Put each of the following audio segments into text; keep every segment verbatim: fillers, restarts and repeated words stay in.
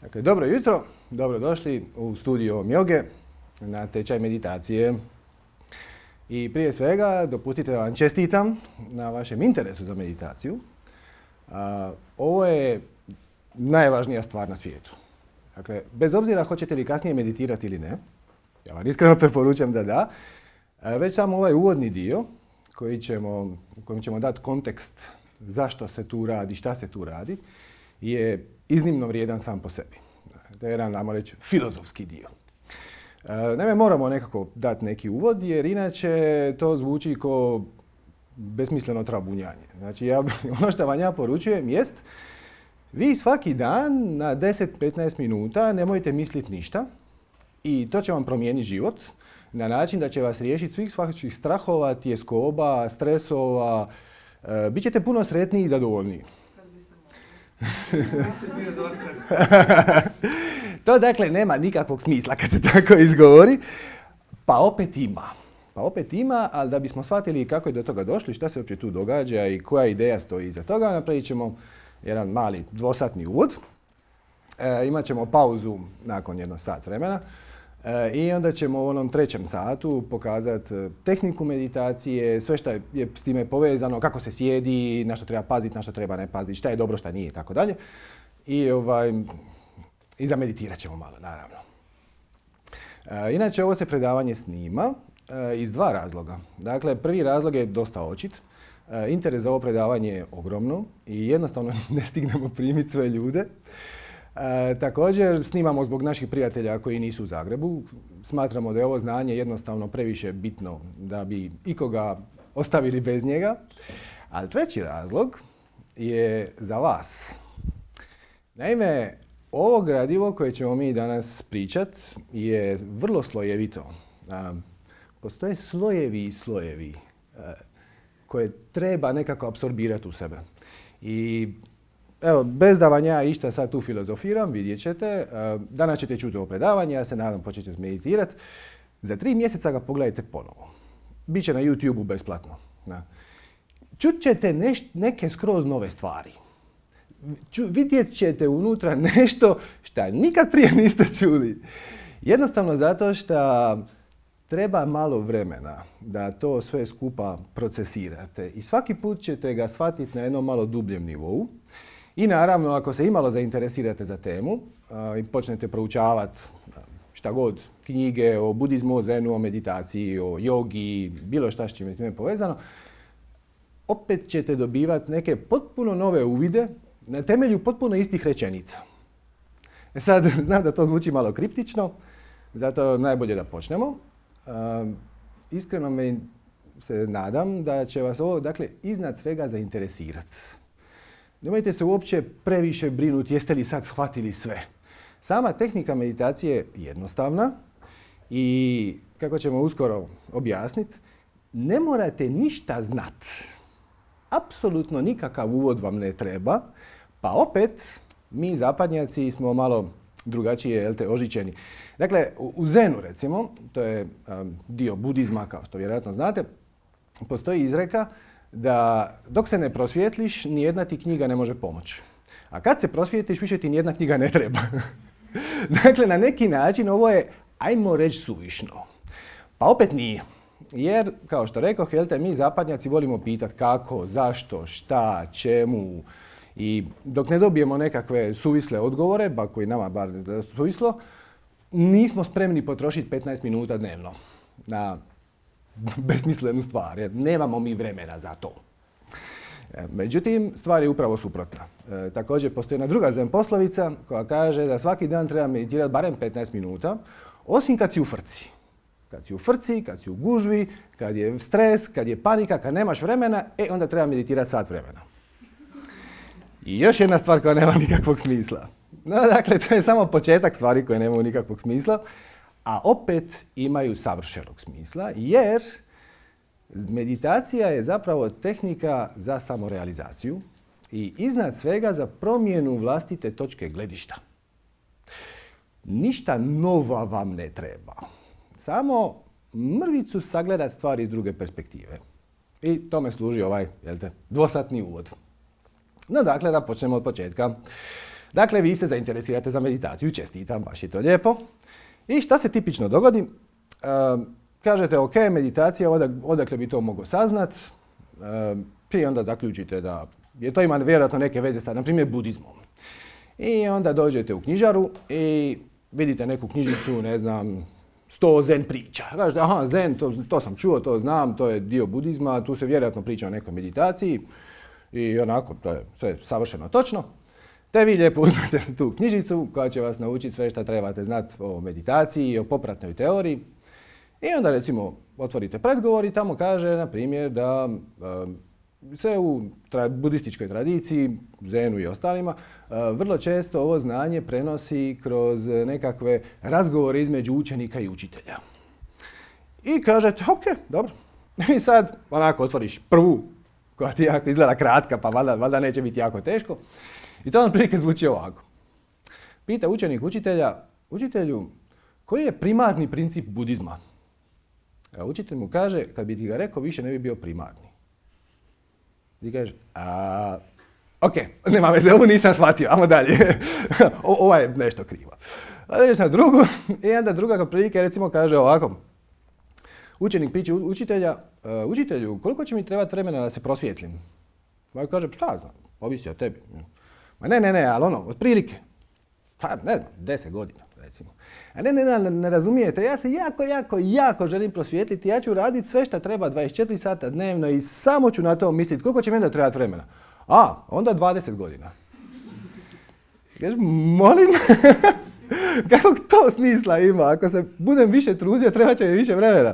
Dakle, dobro jutro, dobrodošli u studio Mjoge na tečaj meditacije. I prije svega, dopustite da vam čestitam na vašem interesu za meditaciju. A, ovo je najvažnija stvar na svijetu. Dakle, bez obzira hoćete li kasnije meditirati ili ne, ja vam iskreno preporučujem da da, a, već samo ovaj uvodni dio koji ćemo, kojim ćemo dati kontekst zašto se tu radi, šta se tu radi, je iznimno vrijedan sam po sebi. To je jedan, ajmo reći, filozofski dio. E, naime, moramo nekako dati neki uvod, jer inače to zvuči kao besmisleno trabunjanje. Znači, ja, ono što vam ja poručujem jest, vi svaki dan na deset do petnaest minuta nemojte misliti ništa i to će vam promijeniti život na način da će vas riješiti svih svakih strahova, tjeskoba, stresova. E, Bićete puno sretniji i zadovoljniji. To dakle nema nikakvog smisla kad se tako izgovori, pa opet ima. Pa opet ima, ali da bismo shvatili kako je do toga došli, šta se uopće tu događa i koja ideja stoji iza toga, napravit ćemo jedan mali dvosatni uvod. E, imat ćemo pauzu nakon jedno sat vremena e, i onda ćemo u onom trećem satu pokazati tehniku meditacije, sve što je s time povezano, kako se sjedi, na što treba paziti, na što treba ne paziti, šta je dobro, šta nije i tako dalje. I ovaj, I zameditirat ćemo malo, naravno. E, inače, ovo se predavanje snima e, iz dva razloga. Dakle, prvi razlog je dosta očit. E, interes za ovo predavanje je ogromno i jednostavno ne stignemo primiti sve ljude. E, također, snimamo zbog naših prijatelja koji nisu u Zagrebu. Smatramo da je ovo znanje jednostavno previše bitno da bi ikoga ostavili bez njega. Ali treći razlog je za vas. Naime, ovo gradivo koje ćemo mi danas pričat je vrlo slojevito. Postoje slojevi i slojevi koje treba nekako apsorbirati u sebe. I evo, bez da vam ja išta sad tu filozofiram, vidjet ćete. Danas ćete čuti ovo predavanje, ja se nadam počet ćete meditirati. Za tri mjeseca ga pogledajte ponovo. Biće na YouTubeu besplatno. Čut ćete neš, neke skroz nove stvari. Ču, vidjet ćete unutra nešto što nikad prije niste čuli. Jednostavno zato što treba malo vremena da to sve skupa procesirate. I svaki put ćete ga shvatiti na jednom malo dubljem nivou. I naravno, ako se imalo zainteresirate za temu a, i počnete proučavati šta god, knjige o budizmu, o zenu, o meditaciji, o jogi, bilo šta s čime je time povezano, opet ćete dobivati neke potpuno nove uvide na temelju potpuno istih rečenica. E sad, znam da to zvuči malo kriptično, zato najbolje da počnemo. Uh, iskreno me se nadam da će vas ovo, dakle, iznad svega zainteresirati. Nemojte se uopće previše brinuti jeste li sad shvatili sve. Sama tehnika meditacije je jednostavna i, kako ćemo uskoro objasniti, ne morate ništa znat. Apsolutno nikakav uvod vam ne treba. Pa opet, mi zapadnjaci smo malo drugačije, jel te, ožičeni. Dakle, u Zenu, recimo, to je um, dio budizma, kao što vjerojatno znate, postoji izreka da dok se ne prosvijetliš, nijedna ti knjiga ne može pomoći. A kad se prosvijetliš, više ti nijedna knjiga ne treba. Dakle, na neki način ovo je, ajmo reći, suvišno. Pa opet nije. Jer, kao što rekoh, jel te, mi zapadnjaci volimo pitati kako, zašto, šta, čemu. I dok ne dobijemo nekakve suvisle odgovore, ba koji nama bar suvislo, nismo spremni potrošiti petnaest minuta dnevno na besmislenu stvar, jer nemamo mi vremena za to. Međutim, stvar je upravo suprotna. E, također postoji jedna druga zen poslovica koja kaže da svaki dan treba meditirati barem petnaest minuta, osim kad si u frci. Kad si u frci, kad si u gužvi, kad je stres, kad je panika, kad nemaš vremena, e onda treba meditirati sat vremena. I još jedna stvar koja nema nikakvog smisla. No, dakle, to je samo početak stvari koje nemaju nikakvog smisla, a opet imaju savršenog smisla, jer meditacija je zapravo tehnika za samorealizaciju i iznad svega za promjenu vlastite točke gledišta. Ništa nova vam ne treba. Samo mrvicu sagledati stvari iz druge perspektive. I tome služi ovaj, jel te, dvosatni uvod. No dakle, da počnemo od početka. Dakle, vi se zainteresirate za meditaciju, čestitam, baš je to lijepo. I šta se tipično dogodi? Uh, kažete, ok, meditacija, odak, odakle bi to mogao saznat, uh, i onda zaključite da je to ima vjerojatno neke veze sa, na primjer, budizmom. I onda dođete u knjižaru i vidite neku knjižicu, ne znam, sto zen priča. Kažete, aha, zen, to, to sam čuo, to znam, to je dio budizma, tu se vjerojatno priča o nekoj meditaciji i onako, to je sve savršeno točno. Te vi lijepo uzmete tu knjižicu koja će vas naučiti sve što trebate znati o meditaciji i o popratnoj teoriji. I onda recimo otvorite predgovor i tamo kaže, na primjer, da um, se u tra- budističkoj tradiciji, zenu i ostalima, uh, vrlo često ovo znanje prenosi kroz nekakve razgovore između učenika i učitelja. I kažete, ok, dobro. I sad onako otvoriš prvu, koja ti jako izgleda kratka, pa valjda, valjda neće biti jako teško. I to on prilike zvuči ovako. Pita učenik učitelja, učitelju, koji je primarni princip budizma? A učitelj mu kaže, kad bi ti ga rekao, više ne bi bio primarni. Ti kaže, a, ok, nema veze, ovo nisam shvatio, ajmo dalje. o, ovo je nešto krivo. A ideš na drugu i onda druga prilike recimo kaže ovako. Učenik piće učitelja, uh, učitelju, koliko će mi trebati vremena da se prosvjetlim? Pa kaže, šta znam, ovisi o tebi. Ma ne, ne, ne, ali ono, otprilike. Pa ne znam, deset godina recimo. A ne, ne, ne, ne razumijete, ja se jako, jako, jako želim prosvjetliti, ja ću raditi sve što treba dvadeset četiri sata dnevno i samo ću na to misliti, koliko će mi onda trebati vremena? A, onda dvadeset godina. Kaže, molim, kakvog to smisla ima, ako se budem više trudio, treba će mi više vremena.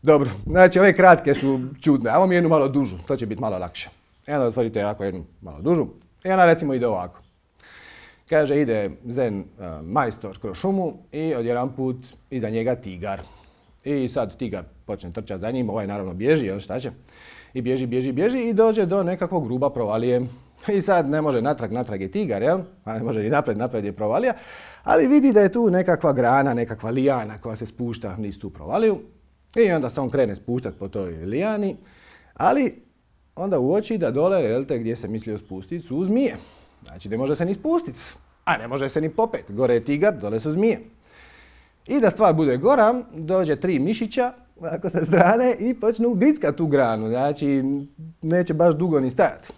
Dobro, znači ove kratke su čudne, a ovo mi je jednu malo dužu, to će biti malo lakše. I onda otvorite ovako jednu malo dužu i ona recimo ide ovako. Kaže, ide zen uh, majstor kroz šumu i odjedanput iza njega tigar. I sad tigar počne trčati za njim, ovaj naravno bježi, jel šta će? I bježi, bježi, bježi i dođe do nekakvog gruba provalije. I sad ne može natrag, natrag je tigar, jel? A ne može ni napred, napred je provalija. Ali vidi da je tu nekakva grana, nekakva lijana koja se spušta niz tu provaliju. I onda se on krene spuštati po toj lijani. Ali onda uoči da dole, jel te, gdje se mislio spustiti, su zmije. Znači ne može se ni spustiti, a ne može se ni popet. Gore je tigar, dole su zmije. I da stvar bude gora, dođe tri mišića ovako sa strane i počnu grickat tu granu. Znači neće baš dugo ni stajati.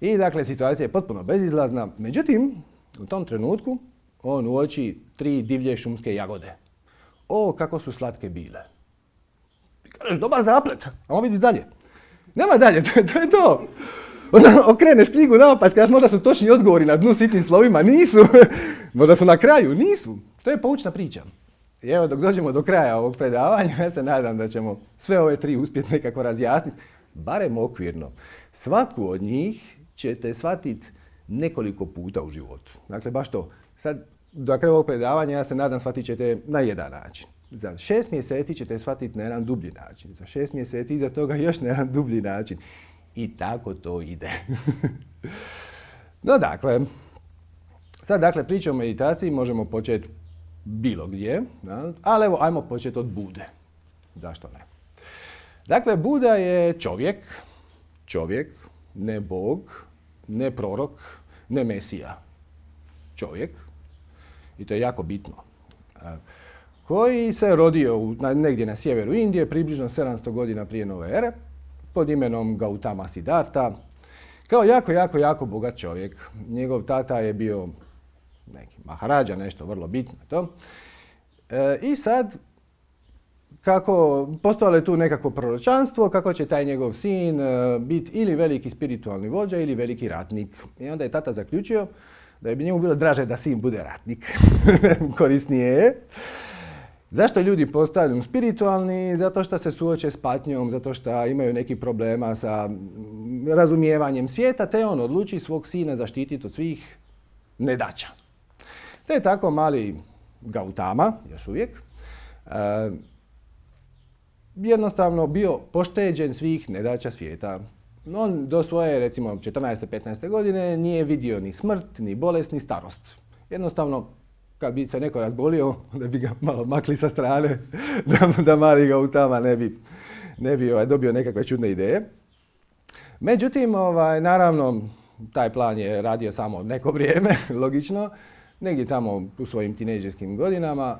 I dakle situacija je potpuno bezizlazna. Međutim, u tom trenutku on uoči tri divlje šumske jagode. O, kako su slatke bile. I kažeš, dobar zaplet, a on vidi dalje. Nema dalje, to, to je to. Onda okreneš knjigu naopać, kažeš možda su točni odgovori na dnu sitnim slovima, nisu. Možda su na kraju, nisu. To je poučna priča. I evo dok dođemo do kraja ovog predavanja, ja se nadam da ćemo sve ove tri uspjeti nekako razjasniti, barem okvirno. Svaku od njih ćete shvatiti nekoliko puta u životu. Dakle, baš to. Sad, do kraja ovog predavanja, ja se nadam, shvatit ćete na jedan način. Za šest mjeseci ćete shvatiti na jedan dublji način. Za šest mjeseci iza toga još na jedan dublji način. I tako to ide. No dakle, sad dakle priča o meditaciji možemo početi bilo gdje, ali evo ajmo početi od Bude. Zašto ne? Dakle, Buda je čovjek, čovjek, ne Bog, ne prorok, ne Mesija. Čovjek, i to je jako bitno, koji se rodio u, negdje na sjeveru Indije, približno sedamsto godina prije nove ere, pod imenom Gautama Siddhartha, kao jako, jako, jako bogat čovjek. Njegov tata je bio neki maharadža, nešto vrlo bitno to. E, I sad, kako postojalo je tu nekakvo proročanstvo, kako će taj njegov sin e, biti ili veliki spiritualni vođa ili veliki ratnik. I onda je tata zaključio da bi njemu bilo draže da sin bude ratnik. Korisnije je. Zašto ljudi postaju spiritualni? Zato što se suoče s patnjom, zato što imaju neki problema sa razumijevanjem svijeta, te on odluči svog sina zaštititi od svih nedaća. Te je tako mali Gautama, još uvijek, uh, jednostavno bio pošteđen svih nedaća svijeta. On do svoje, recimo, četrnaeste petnaeste godine nije vidio ni smrt, ni bolest, ni starost. Jednostavno, kad bi se neko razbolio, da bi ga malo makli sa strane, da, da mali Gautama ne bi, ne bi ovaj, dobio nekakve čudne ideje. Međutim, ovaj, naravno, taj plan je radio samo neko vrijeme, logično. Negdje tamo u svojim tinejdžerskim godinama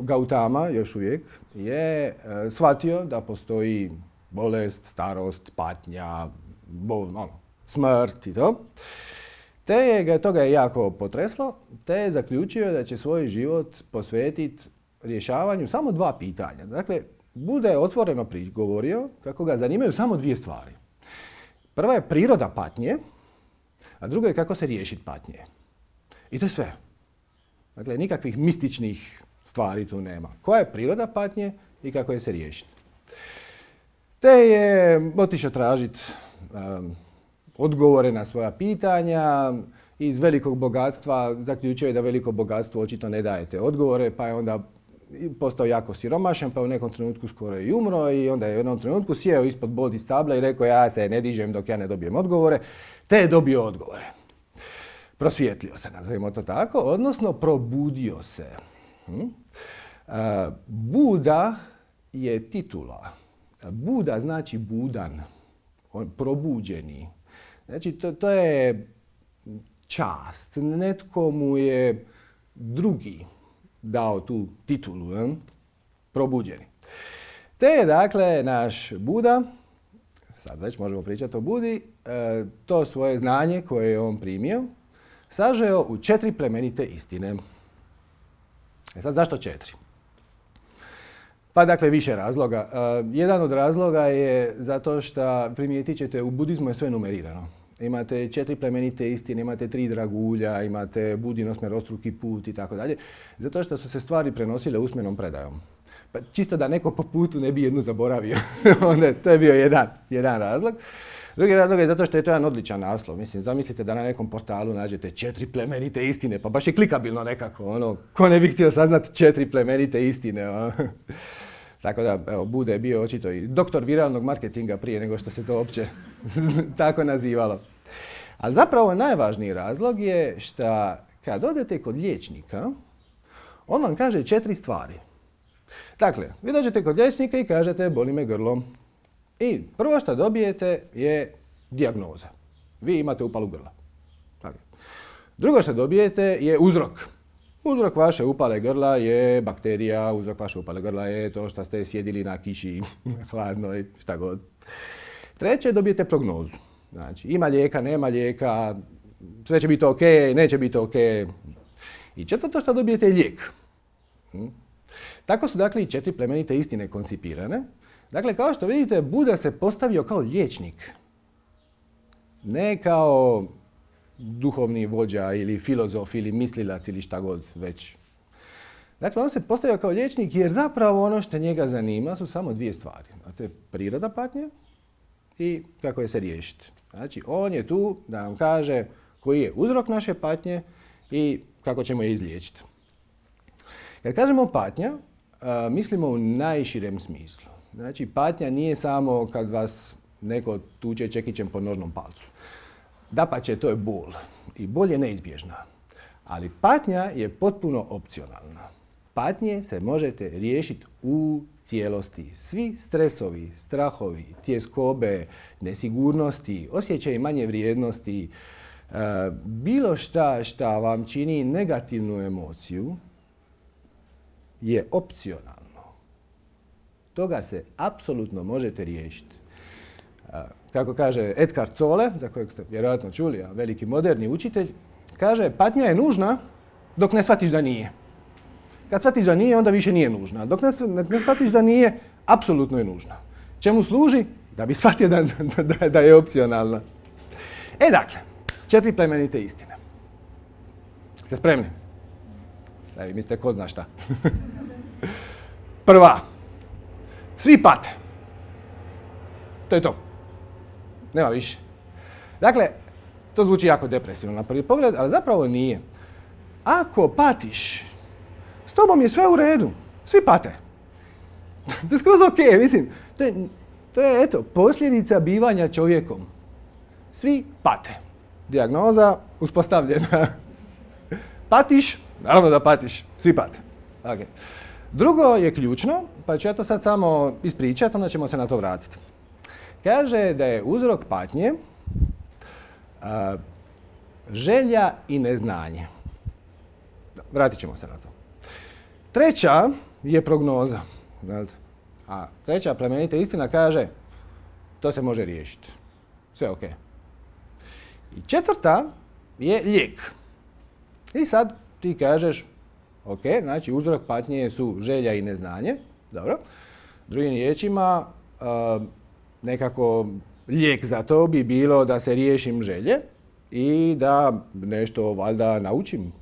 Gautama, još uvijek, je shvatio da postoji bolest, starost, patnja, bol, ono, smrt i to. Te je ga toga je jako potreslo, te je zaključio da će svoj život posvetiti rješavanju samo dva pitanja. Dakle, Buda je otvoreno govorio kako ga zanimaju samo dvije stvari. Prva je priroda patnje, a druga je kako se riješiti patnje. I to je sve. Dakle, nikakvih mističnih stvari tu nema. Koja je priroda patnje i kako je se riješiti. Te je otišao tražiti um, odgovore na svoja pitanja. Iz velikog bogatstva zaključio je da veliko bogatstvo očito ne daje te odgovore, pa je onda postao jako siromašan, pa u nekom trenutku skoro i umro i onda je u jednom trenutku sjeo ispod bodi stabla i rekao ja se ne dižem dok ja ne dobijem odgovore, te je dobio odgovore. Prosvijetlio se, nazovimo to tako, odnosno probudio se. Hm? Uh, Buda je titula. Buda znači budan, on, probuđeni. Znači to, to je čast. Netko mu je drugi dao tu titulu, hm? Probuđeni. Te je dakle naš Buda, sad već možemo pričati o Budi, uh, to svoje znanje koje je on primio, sažeo u četiri plemenite istine. E sad, zašto četiri? Pa dakle, više razloga. Uh, jedan od razloga je zato što primijetit ćete, u budizmu je sve numerirano. Imate četiri plemenite istine, imate tri dragulja, imate Budin osmerostruki put i tako dalje. Zato što su se stvari prenosile usmenom predajom. Pa čisto da neko po putu ne bi jednu zaboravio. Onda, to je bio jedan, jedan razlog. Drugi razlog je zato što je to jedan odličan naslov. Mislim, zamislite da na nekom portalu nađete četiri plemenite istine, pa baš je klikabilno nekako, ono, ko ne bi htio saznati četiri plemenite istine, ono. Tako da, evo, Buda je bio očito i doktor viralnog marketinga prije nego što se to uopće tako nazivalo. Ali zapravo najvažniji razlog je što kad odete kod liječnika, on vam kaže četiri stvari. Dakle, vi dođete kod liječnika i kažete boli me grlo. I prvo što dobijete je dijagnoza. Vi imate upalu grla. Dakle. Drugo što dobijete je uzrok. Uzrok vaše upale grla je bakterija, uzrok vaše upale grla je to što ste sjedili na kiši, hladno i šta god. Treće, dobijete prognozu. Znači, ima lijeka, nema lijeka, sve će biti ok, neće biti ok. I četvrto što dobijete je lijek. Hm? Tako su dakle i četiri plemenite istine koncipirane. Dakle, kao što vidite, Buda se postavio kao liječnik. Ne kao duhovni vođa ili filozof ili mislilac ili šta god već. Dakle, on se postavio kao liječnik jer zapravo ono što njega zanima su samo dvije stvari. A to je priroda patnje i kako je se riješiti. Znači, on je tu da nam kaže koji je uzrok naše patnje i kako ćemo je izliječiti. Kad kažemo patnja, a, mislimo u najširem smislu. Znači, patnja nije samo kad vas neko tuče čekićem po nožnom palcu. Dapače, to je bol. I bol je neizbježna. Ali patnja je potpuno opcionalna. Patnje se možete riješiti u cijelosti. Svi stresovi, strahovi, tjeskobe, nesigurnosti, osjećaj manje vrijednosti, e, bilo šta šta vam čini negativnu emociju je opcionalno. Toga se apsolutno možete riješiti. Kako kaže Eckhart Tolle, za kojeg ste vjerojatno čuli, a veliki moderni učitelj, kaže patnja je nužna dok ne shvatiš da nije. Kad shvatiš da nije, onda više nije nužna. Dok ne, ne shvatiš da nije, apsolutno je nužna. Čemu služi? Da bi shvatio da, da, da je opcionalna. E dakle, četiri plemenite istine. Ste spremni? Sad vi mislite ko zna šta. Prva. Svi pate. To je to. Nema više. Dakle, to zvuči jako depresivno na prvi pogled, ali zapravo nije. Ako patiš, s tobom je sve u redu. Svi pate. To je skroz ok, mislim. To je, to je eto, posljedica bivanja čovjekom. Svi pate. Dijagnoza uspostavljena. Patiš? Naravno da patiš. Svi pate. Okay. Drugo je ključno, pa ću ja to sad samo ispričati, onda ćemo se na to vratiti. Kaže da je uzrok patnje A, želja i neznanje. Vratit ćemo se na to. Treća je prognoza. A treća plemenita istina kaže to se može riješiti. Sve ok. I četvrta je lijek. I sad ti kažeš ok, znači uzrok patnje su želja i neznanje. Dobro. Drugim riječima, uh, nekako lijek za to bi bilo da se riješim želje i da nešto valjda naučim.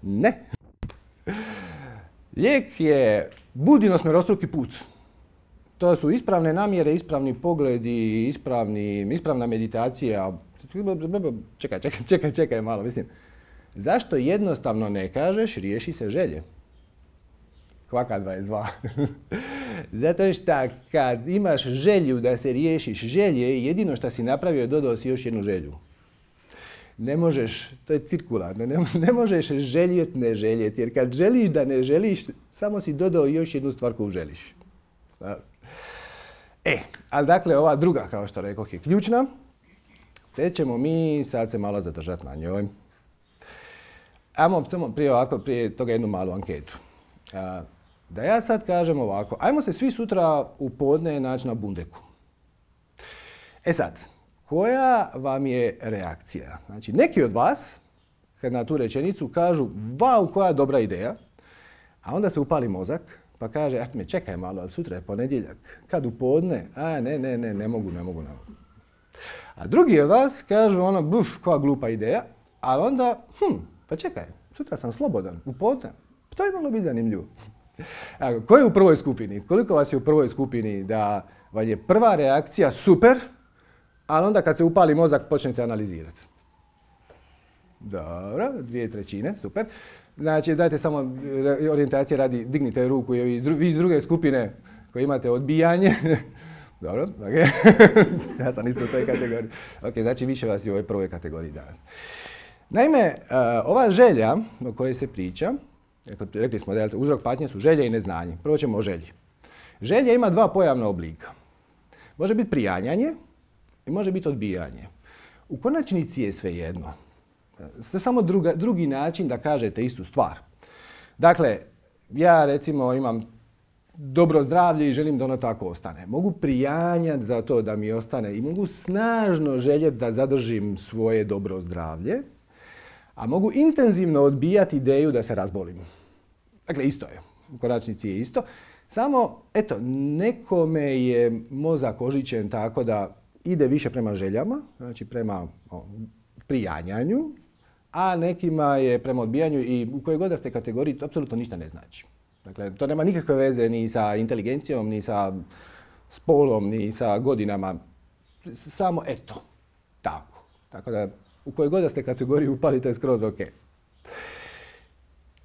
Ne. Lijek je budino smerostruki put. To su ispravne namjere, ispravni pogledi, ispravni, ispravna meditacija. Čekaj, čekaj, čekaj, čekaj malo, mislim. Zašto jednostavno ne kažeš riješi se želje? Kvaka dvadeset dva. Zato što kad imaš želju da se riješiš želje, jedino što si napravio, dodao si još jednu želju. Ne možeš, to je cirkularno, ne, ne možeš željet ne željet, jer kad želiš da ne želiš, samo si dodao još jednu stvar koju želiš. E, ali dakle ova druga, kao što rekoh, je ključna, te ćemo mi sad se malo zadržati na njoj. Ajmo samo prije ovako, prije toga jednu malu anketu. Da ja sad kažem ovako, ajmo se svi sutra u podne naći na Bundeku. E sad, koja vam je reakcija? Znači, neki od vas, kad na tu rečenicu kažu, vau, koja dobra ideja, a onda se upali mozak, pa kaže, ah, me čekaj malo, ali sutra je ponedjeljak. Kad u podne? A, ne, ne, ne, ne mogu, ne mogu, ne mogu. A drugi od vas kažu, ono, buf, koja glupa ideja, a onda, hm, pa čekaj, sutra sam slobodan, u podne. To je malo biti zanimljivo. A, ko je u prvoj skupini? Koliko vas je u prvoj skupini da vam je prva reakcija super, ali onda kad se upali mozak počnete analizirati? Dobro, dvije trećine, super. Znači, dajte samo orijentacije radi, dignite ruku i vi iz druge skupine koji imate odbijanje. Dobro, ok. Ja sam isto u toj kategoriji. Ok, znači više vas je u ovoj prvoj kategoriji danas. Naime, ova želja o kojoj se priča, rekli smo da uzrok patnje su želje i neznanje. Prvo ćemo o želji. Želja ima dva pojavna oblika. Može biti prijanjanje i može biti odbijanje. U konačnici je svejedno. To je samo druga, drugi način da kažete istu stvar. Dakle, ja recimo imam dobro zdravlje i želim da ono tako ostane. Mogu prijanjati za to da mi ostane i mogu snažno željeti da zadržim svoje dobro zdravlje, a mogu intenzivno odbijati ideju da se razbolim. Dakle, isto je. U konačnici je isto. Samo, eto, nekome je mozak ožićen tako da ide više prema željama, znači prema o, prijanjanju, a nekima je prema odbijanju i u kojoj god da ste kategoriji to apsolutno ništa ne znači. Dakle, to nema nikakve veze ni sa inteligencijom, ni sa spolom, ni sa godinama. Samo eto, tako. Tako da, u kojoj god da ste kategoriji upali, to je skroz ok.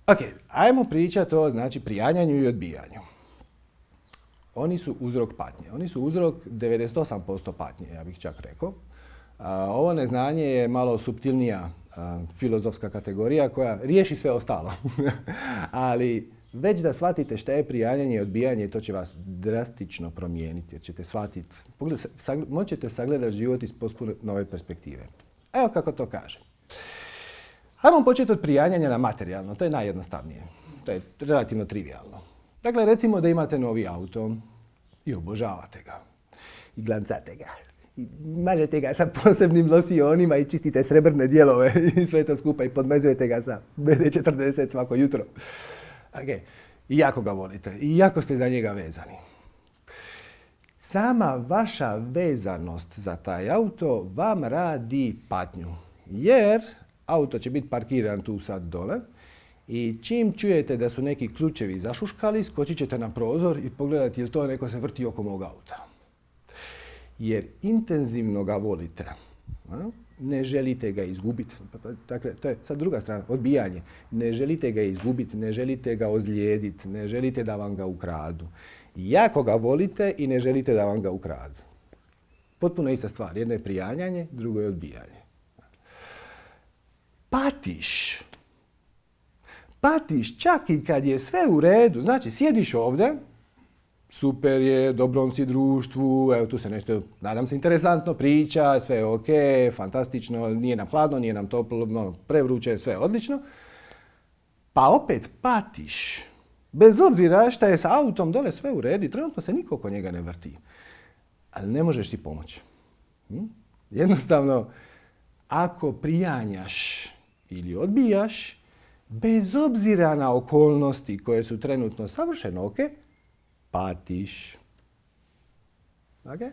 Ok, ajmo pričati o znači, prijanjanju i odbijanju. Oni su uzrok patnje. Oni su uzrok devedeset osam posto patnje, ja bih čak rekao. A, ovo neznanje je malo suptilnija a, filozofska kategorija koja riješi sve ostalo. Ali već da shvatite šta je prijanjanje i odbijanje, to će vas drastično promijeniti. Jer ćete shvatiti, moćete sagledati život iz potpuno nove perspektive. Evo kako to kaže. Hajmo početi od prijanjanja na materijalno. To je najjednostavnije. To je relativno trivialno. Dakle, recimo da imate novi auto i obožavate ga. I glancate ga. I mažete ga sa posebnim losionima i čistite srebrne dijelove i sve to skupa i podmezujete ga sa B D četrdeset svako jutro. Okay. I jako ga volite. I jako ste za njega vezani. Sama vaša vezanost za taj auto vam radi patnju. Jer auto će biti parkiran tu sad dole i čim čujete da su neki ključevi zašuškali, skočit ćete na prozor i pogledati jel to neko se vrti oko mog auta. Jer intenzivno ga volite. Ne želite ga izgubiti. Dakle, to je sad druga strana, odbijanje. Ne želite ga izgubiti, ne želite ga ozlijediti, ne želite da vam ga ukradu. Jako ga volite i ne želite da vam ga ukradu. Potpuno ista stvar. Jedno je prijanjanje, drugo je odbijanje. Patiš. Patiš čak i kad je sve u redu. Znači, sjediš ovdje super je, dobrom si društvu, evo tu se nešto, nadam se, interesantno priča, sve je ok, fantastično, nije nam hladno, nije nam toplo, no, prevruće, sve je odlično. Pa opet patiš, bez obzira šta je sa autom dole sve u redu, trenutno se niko oko njega ne vrti. Ali ne možeš si pomoći. Hm? Jednostavno, ako prijanjaš ili odbijaš, bez obzira na okolnosti koje su trenutno savršeno ok, patiš. Okay?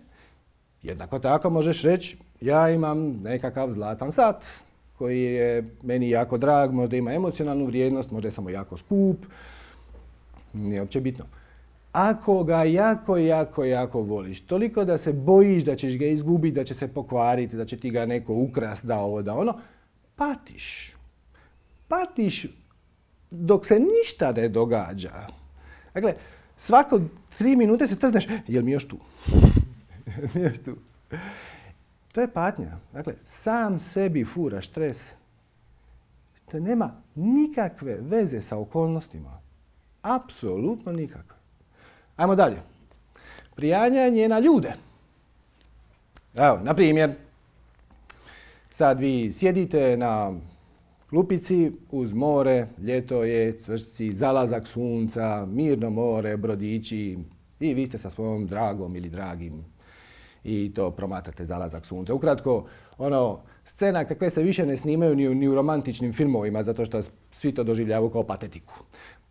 Jednako tako možeš reći, ja imam nekakav zlatan sat koji je meni jako drag, možda ima emocionalnu vrijednost, možda je samo jako skup, nije uopće bitno. Ako ga jako, jako, jako voliš, toliko da se bojiš da ćeš ga izgubiti, da će se pokvariti, da će ti ga neko ukrast, da ovo, da ono, patiš. Patiš dok se ništa ne događa. Dakle, svako tri minute se trzneš, jel mi još tu? Jel mi još tu? To je patnja. Dakle, sam sebi furaš stres. To nema nikakve veze sa okolnostima. Apsolutno nikakve. Ajmo dalje. Prijanjanje na ljude. Evo, na primjer, sad vi sjedite na klupici uz more, ljeto je, cvršci, zalazak sunca, mirno more, brodići i vi ste sa svojom dragom ili dragim i to promatrate zalazak sunca. Ukratko, ono, scena kakve se više ne snimaju ni u, ni u romantičnim filmovima zato što svi to doživljavaju kao patetiku.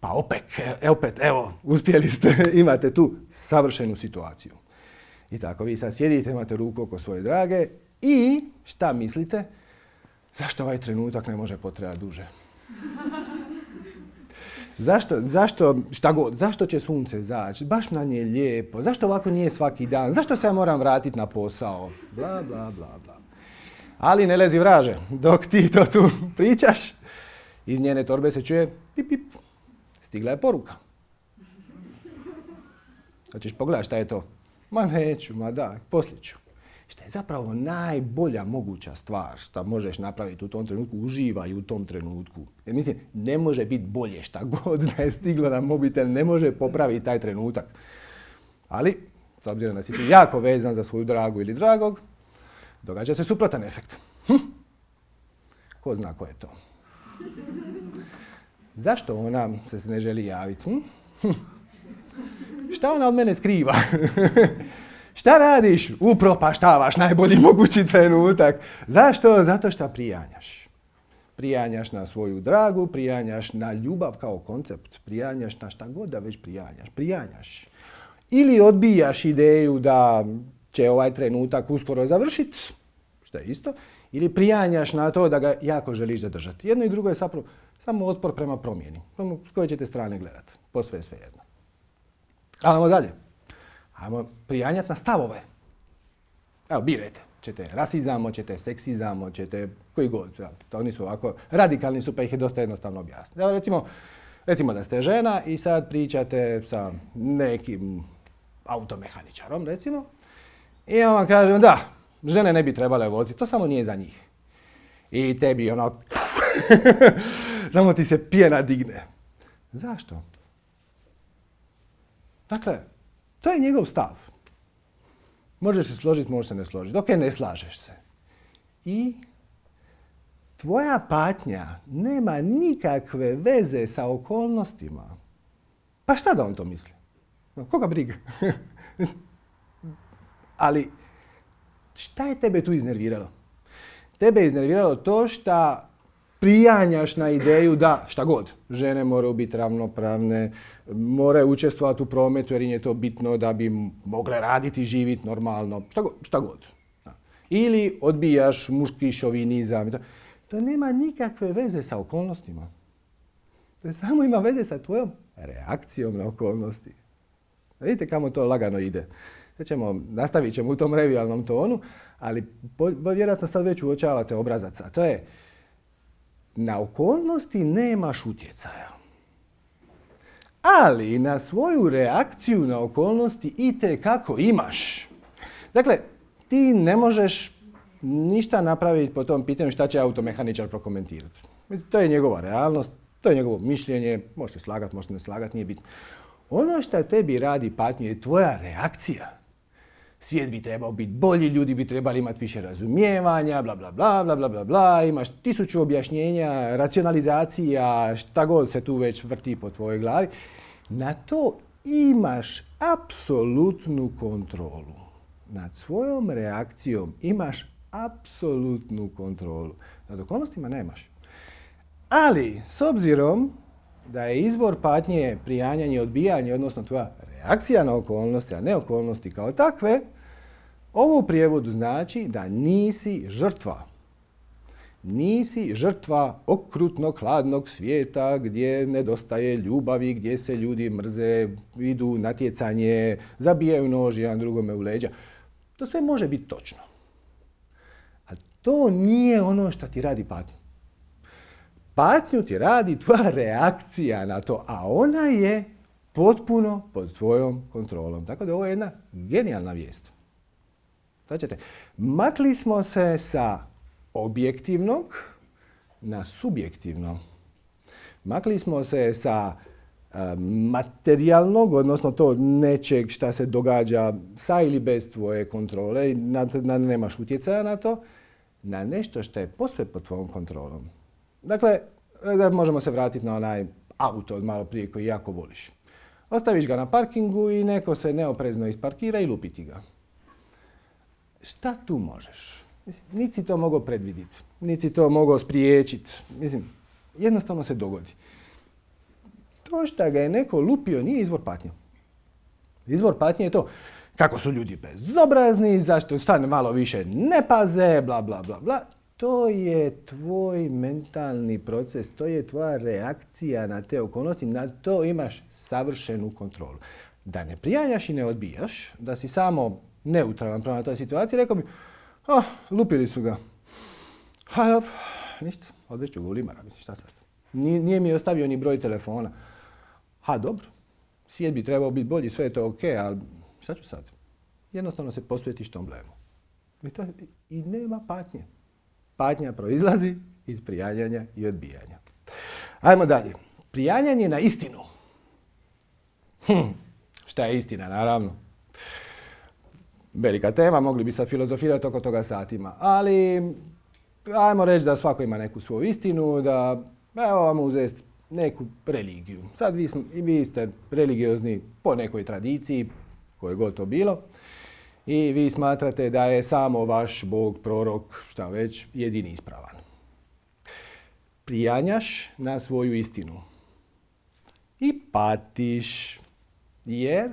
Pa opet, opet, evo, uspjeli ste, imate tu savršenu situaciju. I tako, vi sad sjedite, imate ruku oko svoje drage i šta mislite? Zašto ovaj trenutak ne može potrajati duže? Zašto, zašto, šta god, zašto će sunce zaći? Baš na nje lijepo. Zašto ovako nije svaki dan? Zašto se ja moram vratiti na posao? Bla, bla, bla, bla. Ali ne lezi vraže. Dok ti to tu pričaš, iz njene torbe se čuje pip, pip. Stigla je poruka. Hoćeš pogledati šta je to? Ma neću, ma da, poslije ću. Što je zapravo najbolja moguća stvar što možeš napraviti u tom trenutku, uživaj u tom trenutku. Jer mislim, ne može biti bolje šta god da je stiglo na mobitel, ne može popraviti taj trenutak. Ali, s obzirom da si ti jako vezan za svoju dragu ili dragog, događa se suprotan efekt. Hm? Ko zna ko je to? Zašto ona se ne želi javiti? Hm? Hm. Šta ona od mene skriva? Šta radiš? Upropaštavaš najbolji mogući trenutak. Zašto? Zato što prijanjaš. Prijanjaš na svoju dragu, prijanjaš na ljubav kao koncept, prijanjaš na šta god da već prijanjaš. Prijanjaš. Ili odbijaš ideju da će ovaj trenutak uskoro završiti, što je isto, ili prijanjaš na to da ga jako želiš zadržati. Jedno i drugo je zapravo samo otpor prema promjeni. S koje ćete strane gledati. Posve je svejedno. Ajmo dalje. Ajmo prijanjati na stavove. Evo, birajte. Ćete rasizam, hoćete seksizam, hoćete koji god. To oni su ovako radikalni su pa ih je dosta jednostavno objasniti. Evo recimo, recimo da ste žena i sad pričate sa nekim automehaničarom, recimo. I on vam kaže, da, žene ne bi trebale voziti, to samo nije za njih. I tebi ono, samo ti se pjena digne. Zašto? Dakle, to je njegov stav. Možeš se složiti, možeš se ne složiti. Ok, ne slažeš se. I tvoja patnja nema nikakve veze sa okolnostima. Pa šta da on to misli? Koga briga? Ali šta je tebe tu iznerviralo? Tebe je iznerviralo to što prijanjaš na ideju da šta god. Žene moraju biti ravnopravne, moraju učestvovati u prometu jer im je to bitno da bi mogle raditi i živjeti normalno. Šta god. Šta god. Ili odbijaš muški šovinizam. To nema nikakve veze sa okolnostima. To samo ima veze sa tvojom reakcijom na okolnosti. Vidite kamo to lagano ide. Sad ćemo, nastavit ćemo u tom revijalnom tonu, ali vjerojatno sad već uočavate obrazaca. To je, na okolnosti nemaš utjecaja. Ali na svoju reakciju na okolnosti itekako imaš. Dakle, ti ne možeš ništa napraviti po tom pitanju šta će automehaničar prokomentirati. To je njegova realnost, to je njegovo mišljenje, možete slagati, možete ne slagati, nije bitno. Ono što tebi radi patnju je tvoja reakcija. Svijet bi trebao biti bolji, ljudi bi trebali imati više razumijevanja, bla, bla, bla, bla, bla, bla, bla. Imaš tisuću objašnjenja, racionalizacija, šta god se tu već vrti po tvojoj glavi. Na to imaš apsolutnu kontrolu. Nad svojom reakcijom imaš apsolutnu kontrolu. Nad okolnostima nemaš. Ali, s obzirom da je izvor patnje prijanjanje i odbijanje, odnosno tvoja reakcija na okolnosti, a ne okolnosti kao takve, ovo u prijevodu znači da nisi žrtva. Nisi žrtva okrutnog, hladnog svijeta gdje nedostaje ljubavi, gdje se ljudi mrze, idu natjecanje, zabijaju nož jedan drugome u leđa. To sve može biti točno. A to nije ono što ti radi patnju. Patnju ti radi tvoja reakcija na to, a ona je potpuno pod tvojom kontrolom. Tako da ovo je jedna genijalna vijest. Sad ćete, makli smo se sa objektivnog na subjektivno. Makli smo se sa e, materijalnog, odnosno to nečeg šta se događa sa ili bez tvoje kontrole, na, na, nemaš utjecaja na to, na nešto što je posve pod tvojom kontrolom. Dakle, možemo se vratiti na onaj auto od malo prije koji jako voliš. Ostaviš ga na parkingu i neko se neoprezno isparkira i lupi ti ga. Šta tu možeš? Niti si to mogao predvidjeti, niti si to mogao spriječiti. Mislim, jednostavno se dogodi. To što ga je neko lupio nije izvor patnje. Izvor patnje je to kako su ljudi bezobrazni, zašto stane malo više ne paze, bla, bla, bla, bla. To je tvoj mentalni proces, to je tvoja reakcija na te okolnosti, na to imaš savršenu kontrolu. Da ne prijanjaš i ne odbijaš, da si samo neutralan prema toj situaciji, rekao bi, oh, lupili su ga. Ha, dobro, ništa, odvešću ga u limara, mislim, šta sad? Nije, nije mi ostavio ni broj telefona. Ha, dobro, svijet bi trebao biti bolji, sve je to ok, ali šta ću sad? Jednostavno se posvetiš tom blemu. I, to, i nema patnje. Patnja proizlazi iz prijanjanja i odbijanja. Ajmo dalje. Prijanjanje na istinu. Hm, šta je istina, naravno? Velika tema, mogli bi sad filozofirati oko toga satima. Ali, ajmo reći da svako ima neku svoju istinu, da, evo vam uzeti neku religiju. Sad vi, vi ste religiozni po nekoj tradiciji, koje god to bilo. I vi smatrate da je samo vaš Bog, prorok, šta već, jedini ispravan. Prijanjaš na svoju istinu. I patiš. Jer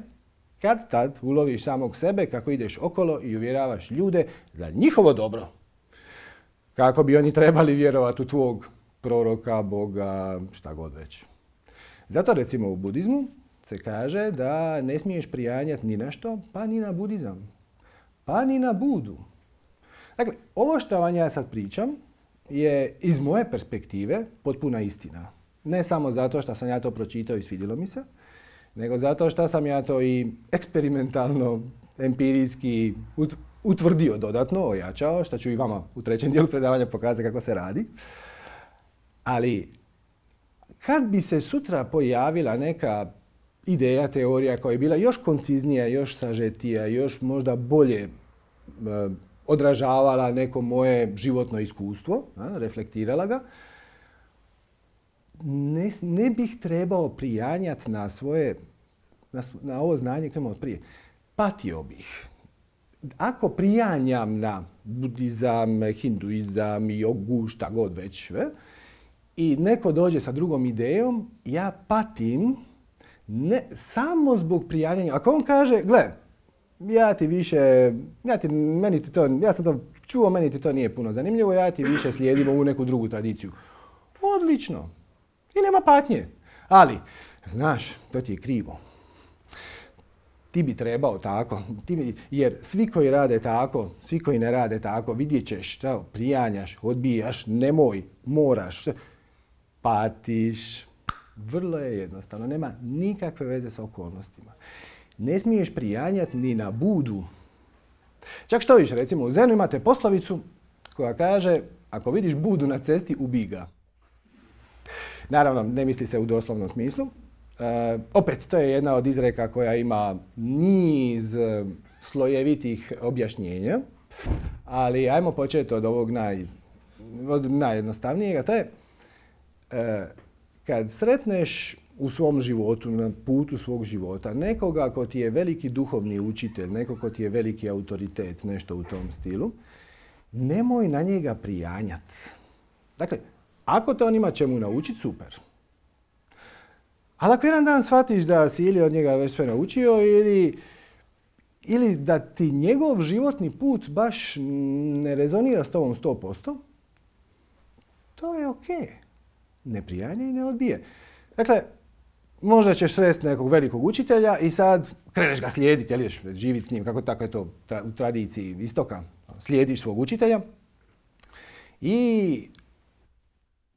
kad tad uloviš samog sebe kako ideš okolo i uvjeravaš ljude za njihovo dobro. Kako bi oni trebali vjerovati u tvog proroka, Boga, šta god već. Zato recimo u budizmu se kaže da ne smiješ prijanjati ni na što, pa ni na budizam. Pa ni na Budu. Dakle, ovo što vam ja sad pričam je iz moje perspektive potpuna istina. Ne samo zato što sam ja to pročitao i svidjelo mi se, nego zato što sam ja to i eksperimentalno, empirijski utvrdio dodatno, ojačao, što ću i vama u trećem dijelu predavanja pokazati kako se radi. Ali, kad bi se sutra pojavila neka ideja, teorija koja je bila još konciznija, još sažetija, još možda bolje e, odražavala neko moje životno iskustvo, a, reflektirala ga, ne, ne bih trebao prijanjati na svoje, na, na ovo znanje koje imam od prije. Patio bih. Ako prijanjam na budizam, hinduizam, jogu, šta god već, ve, i neko dođe sa drugom idejom, ja patim ne samo zbog prijanjanja. Ako on kaže, gle, ja ti više, ja, ti, meni ti to, ja sam to čuo, meni ti to nije puno zanimljivo, ja ti više slijedim ovu neku drugu tradiciju. Odlično. I nema patnje. Ali, znaš, to ti je krivo. Ti bi trebao tako, ti bi, jer svi koji rade tako, svi koji ne rade tako, vidjet ćeš što prijanjaš, odbijaš, nemoj, moraš, patiš. Vrlo je jednostavno, nema nikakve veze sa okolnostima. Ne smiješ prijanjati ni na Budu. Čak što više, recimo u Zenu imate poslovicu koja kaže ako vidiš Budu na cesti, ubij ga. Naravno, ne misli se u doslovnom smislu. E, opet, to je jedna od izreka koja ima niz slojevitih objašnjenja, ali ajmo početi od ovog naj, od najjednostavnijega. To je e, kad sretneš u svom životu, na putu svog života, nekoga ko ti je veliki duhovni učitelj, neko ko ti je veliki autoritet, nešto u tom stilu, nemoj na njega prijanjati. Dakle, ako te on ima čemu naučiti, super. Ali ako jedan dan shvatiš da si ili od njega već sve naučio ili, ili da ti njegov životni put baš ne rezonira s tobom sto posto, to je ok. Ne prijanjaj i ne odbije. Dakle, možda ćeš sresti nekog velikog učitelja i sad kreneš ga slijediti, jel ideš živjeti s njim, kako tako je to u tradiciji istoka. Slijediš svog učitelja i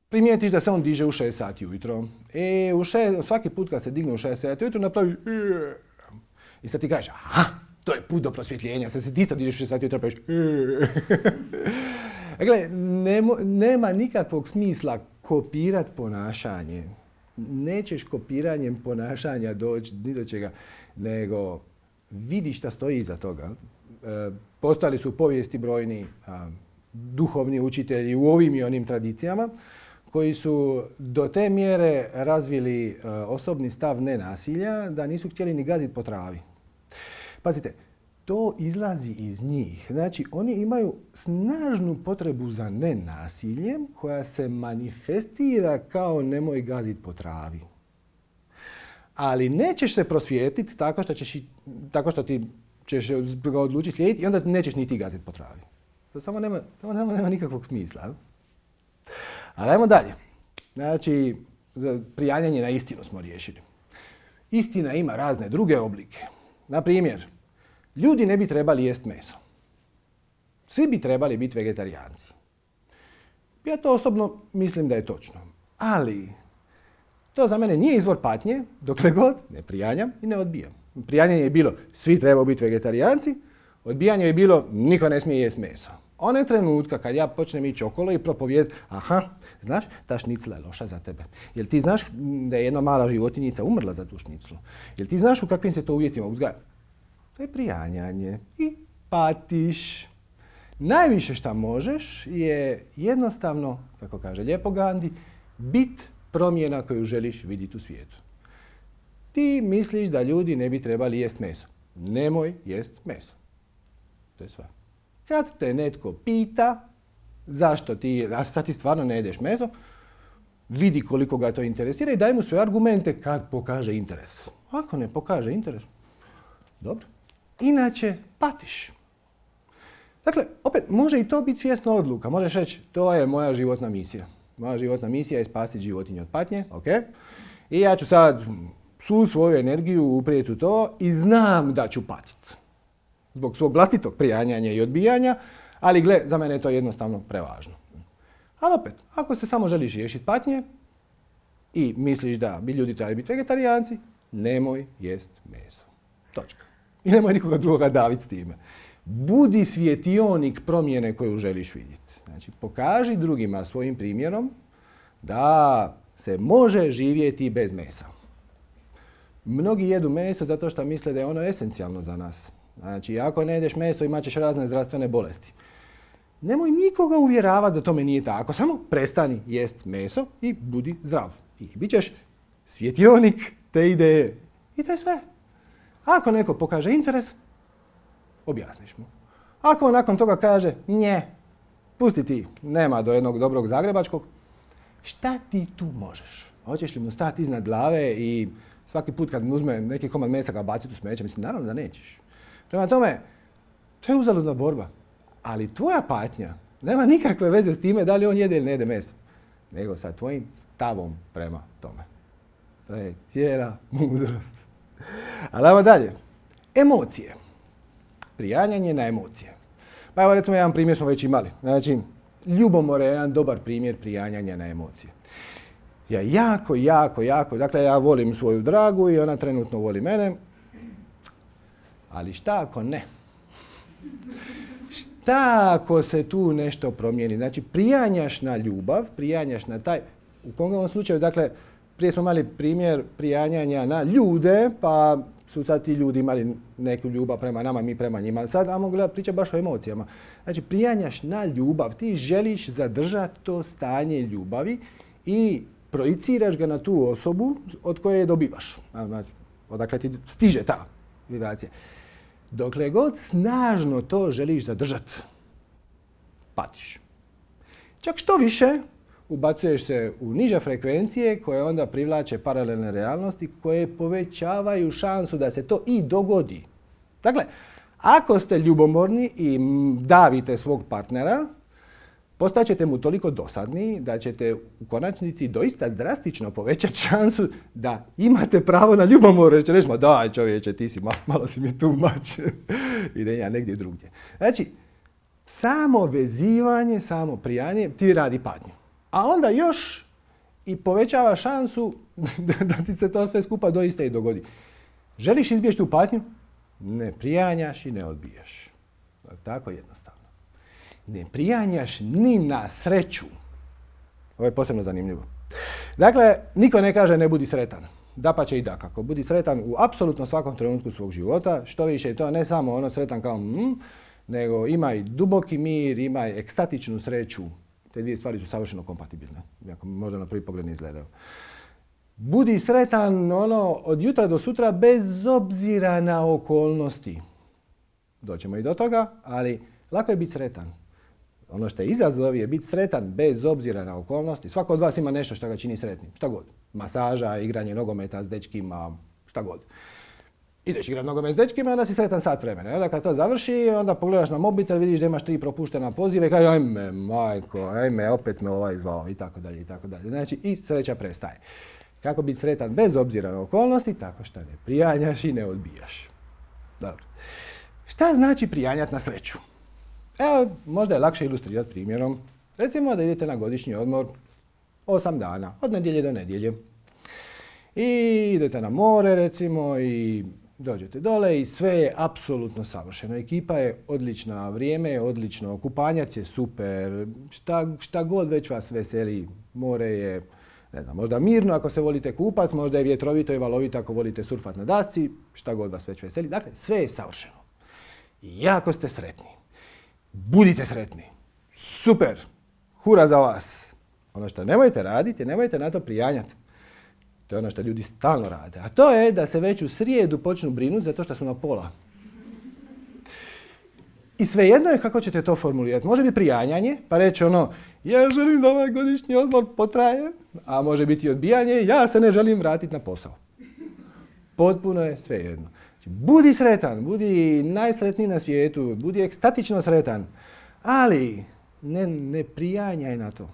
primijetiš da se on diže u šest sati ujutro. I u šest, svaki put kad se digne u šest sati ujutro napravi i sad ti kažeš, aha, to je put do prosvjetljenja. Sad se ti isto dižeš u šest sati ujutro napraviš Dakle, nema, nema nikakvog smisla kopirati ponašanje. Nećeš kopiranjem ponašanja doći ni do čega, nego vidi šta stoji iza toga. E, postali su u povijesti brojni a, duhovni učitelji u ovim i onim tradicijama koji su do te mjere razvili a, osobni stav nenasilja da nisu htjeli ni gaziti po travi. Pazite, to izlazi iz njih. Znači, oni imaju snažnu potrebu za nenasiljem koja se manifestira kao nemoj gaziti po travi. Ali nećeš se prosvijetiti tako što, ćeš, tako što ti ćeš ga odlučiti slijediti i onda nećeš ni ti gaziti po travi. To samo nema, samo nema, nema nikakvog smisla. Ali ajmo dalje. Znači, prijanjanje na istinu smo riješili. Istina ima razne druge oblike. Na primjer, ljudi ne bi trebali jest meso. Svi bi trebali biti vegetarijanci. Ja to osobno mislim da je točno. Ali to za mene nije izvor patnje dokle god ne prijanjam i ne odbijam. Prijanjanje je bilo svi trebaju biti vegetarijanci, odbijanje je bilo niko ne smije jest meso. One trenutka kad ja počnem ići okolo i propovijedati, aha, znaš, ta šnicla je loša za tebe. Jel ti znaš da je jedna mala životinjica umrla za tu šniclu? Jel ti znaš u kakvim se to uvjetima uzgaja? To je prijanjanje i patiš. Najviše što možeš je jednostavno, kako kaže lijepo Gandhi, bit promjena koju želiš vidjeti u svijetu. Ti misliš da ljudi ne bi trebali jest meso. Nemoj jest meso. To je sve. Kad te netko pita zašto ti, a sad ti stvarno ne jedeš meso, vidi koliko ga to interesira i daj mu sve argumente kad pokaže interes. Ako ne pokaže interes, dobro. Inače, patiš. Dakle, opet, može i to biti svjesna odluka. Možeš reći, to je moja životna misija. Moja životna misija je spasiti životinje od patnje, ok? I ja ću sad svu svoju energiju uprijeti u to i znam da ću patiti. Zbog svog vlastitog prijanjanja i odbijanja, ali gle, za mene je to jednostavno prevažno. Ali opet, ako se samo želiš riješiti patnje i misliš da bi ljudi trebali biti vegetarijanci, nemoj jest meso. Točka. I nemoj nikoga drugoga daviti s time. Budi svjetionik promjene koju želiš vidjeti. Znači, pokaži drugima svojim primjerom da se može živjeti bez mesa. Mnogi jedu meso zato što misle da je ono esencijalno za nas. Znači, ako ne jedeš meso, imat ćeš razne zdravstvene bolesti. Nemoj nikoga uvjeravati da tome nije tako. Samo prestani jest meso i budi zdrav. I bit ćeš svjetionik te ideje. I to je sve. Ako neko pokaže interes, objasniš mu. Ako on nakon toga kaže, nje, pusti ti, nema do jednog dobrog zagrebačkog, šta ti tu možeš? Hoćeš li mu stati iznad glave i svaki put kad mu uzme neki komad mesa ga baciti u smeće? Mislim, naravno da nećeš. Prema tome, to je uzaludna borba. Ali tvoja patnja nema nikakve veze s time da li on jede ili ne jede meso. Nego sa tvojim stavom prema tome. To je cijela mudrost. Ali ajmo dalje. Emocije. Prijanjanje na emocije. Pa evo recimo jedan primjer smo već imali. Znači, ljubomora je jedan dobar primjer prijanjanja na emocije. Ja jako, jako, jako, dakle ja volim svoju dragu i ona trenutno voli mene. Ali šta ako ne? Šta ako se tu nešto promijeni? Znači, prijanjaš na ljubav, prijanjaš na taj, u konkretnom slučaju, dakle, Prije smo imali primjer prijanjanja na ljude, pa su sad ti ljudi imali neku ljubav prema nama, mi prema njima. Sad ajmo gledati priča baš o emocijama. Znači, prijanjaš na ljubav, ti želiš zadržati to stanje ljubavi i projiciraš ga na tu osobu od koje je dobivaš. Znači, odakle ti stiže ta vibracija. Dokle god snažno to želiš zadržati, patiš. Čak što više, ubacuješ se u niže frekvencije koje onda privlače paralelne realnosti koje povećavaju šansu da se to i dogodi. Dakle, ako ste ljubomorni i davite svog partnera, postaćete mu toliko dosadni da ćete u konačnici doista drastično povećati šansu da imate pravo na ljubomor. Jer će reći, ma daj čovječe, ti si malo, malo si mi tu mač. Ide ja negdje drugdje. Znači, samo vezivanje, samo prijanje ti radi patnju. A onda još i povećava šansu da ti se to sve skupa doista i dogodi. Želiš izbjeći tu patnju? Ne prijanjaš i ne odbijaš. Tako jednostavno. Ne prijanjaš ni na sreću. Ovo je posebno zanimljivo. Dakle, niko ne kaže ne budi sretan. Dapače i dakako. Budi sretan u apsolutno svakom trenutku svog života. Što više je to ne samo ono sretan kao mm, nego imaj duboki mir, imaj ekstatičnu sreću. Te dvije stvari su savršeno kompatibilne. Iako možda na prvi pogled ne izgledaju. Budi sretan ono, od jutra do sutra bez obzira na okolnosti. Doćemo i do toga, ali lako je biti sretan. Ono što je izazov je biti sretan bez obzira na okolnosti. Svako od vas ima nešto što ga čini sretnim. Šta god. Masaža, igranje nogometa s dečkima, šta god. Ideš igrati nogomet s dečkima, onda si sretan sat vremena. Onda kad to završi, onda pogledaš na mobitel, vidiš da imaš tri propuštena pozive i kaže ajme majko, ajme opet me ovaj zvao i tako dalje i tako dalje. Znači i sreća prestaje. Kako biti sretan bez obzira na okolnosti? Tako što ne prijanjaš i ne odbijaš. Dobro. Šta znači prijanjati na sreću? Evo, možda je lakše ilustrirati primjerom. Recimo da idete na godišnji odmor osam dana, od nedjelje do nedjelje. I idete na more, recimo, i dođete dole i sve je apsolutno savršeno. Ekipa je odlična, vrijeme je odlično, kupanjac je super, šta, šta god već vas veseli. More je, ne znam, možda mirno ako se volite kupac, možda je vjetrovito i valovito ako volite surfat na dasci, šta god vas već veseli. Dakle, sve je savršeno. I jako ste sretni. Budite sretni. Super. Hura za vas. Ono što nemojte raditi, nemojte na to prijanjati. To je ono što ljudi stalno rade. A to je da se već u srijedu počnu brinuti zato što su na pola. I svejedno je kako ćete to formulirati. Može biti prijanjanje, pa reći ono, ja želim da ovaj godišnji odmor potraje, a može biti odbijanje, ja se ne želim vratiti na posao. Potpuno je svejedno. Budi sretan, budi najsretniji na svijetu, budi ekstatično sretan, ali ne, ne prijanjaj na to.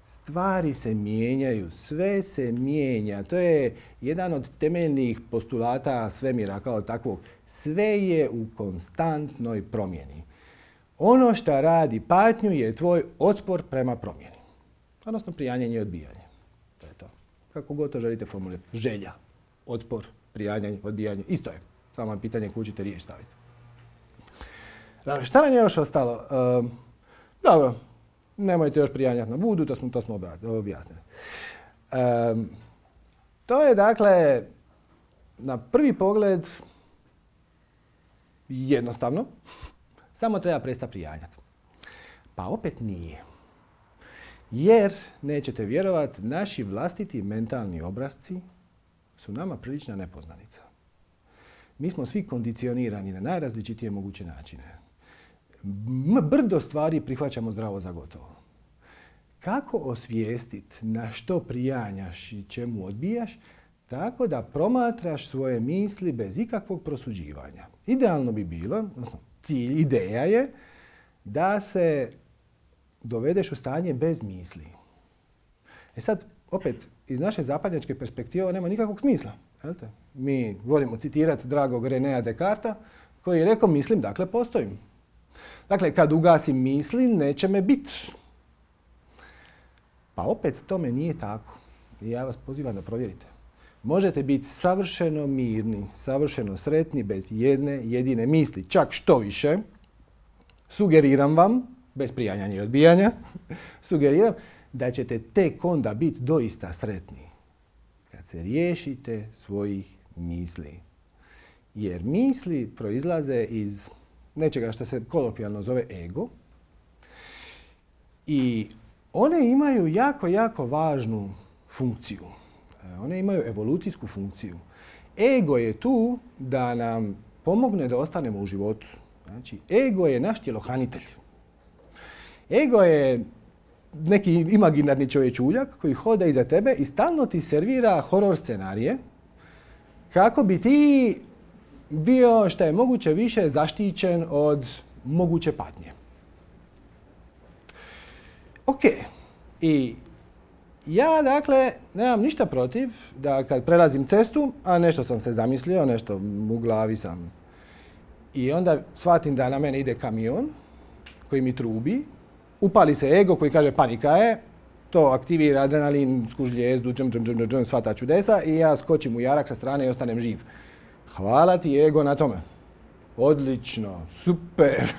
Stvari se mijenjaju, sve se mijenja. To je jedan od temeljnih postulata svemira kao takvog. Sve je u konstantnoj promjeni. Ono što radi patnju je tvoj otpor prema promjeni. Odnosno prijanjanje i odbijanje. To je to. Kako god to želite formulirati. Želja, otpor, prijanjanje, odbijanje. Isto je. Samo je pitanje kuda ćete riječ staviti. Dobro, šta nam je još ostalo? Uh, dobro. Nemojte još prijanjati na budu, to smo, to smo objasnili. Um, to je dakle, na prvi pogled, jednostavno, samo treba prestati prijanjati. Pa opet nije. Jer, nećete vjerovati, naši vlastiti mentalni obrasci su nama prilična nepoznanica. Mi smo svi kondicionirani na najrazličitije moguće načine. Brdo stvari prihvaćamo zdravo za gotovo. Kako osvijestiti na što prijanjaš i čemu odbijaš, tako da promatraš svoje misli bez ikakvog prosuđivanja. Idealno bi bilo, odnosno cilj, ideja je da se dovedeš u stanje bez misli. E sad, opet, iz naše zapadnjačke perspektive ovo nema nikakvog smisla. Jel'te? Mi volimo citirati dragog Renea Descartesa koji je rekao mislim, dakle postojim. Dakle, kad ugasim misli, neće me biti. Pa opet tome nije tako. I ja vas pozivam da provjerite. Možete biti savršeno mirni, savršeno sretni, bez jedne jedine misli. Čak što više, sugeriram vam, bez prijanjanja i odbijanja, sugeriram da ćete tek onda biti doista sretni. se riješite svojih misli. Jer misli proizlaze iz nečega što se kolokvijalno zove ego. I one imaju jako, jako važnu funkciju. One imaju evolucijsku funkciju. Ego je tu da nam pomogne da ostanemo u životu. Znači, ego je naš tjelohranitelj. Ego je neki imaginarni čovječuljak koji hoda iza tebe i stalno ti servira horor scenarije kako bi ti bio što je moguće više zaštićen od moguće patnje. Ok. I ja, dakle, nemam ništa protiv da kad prelazim cestu, a nešto sam se zamislio, nešto u glavi sam, i onda shvatim da na mene ide kamion koji mi trubi, upali se ego koji kaže panika je, to aktivira adrenalin, skužljezdu, džem, džem, džem, džem, sva ta čudesa i ja skočim u jarak sa strane i ostanem živ. Hvala ti ego na tome. Odlično, super.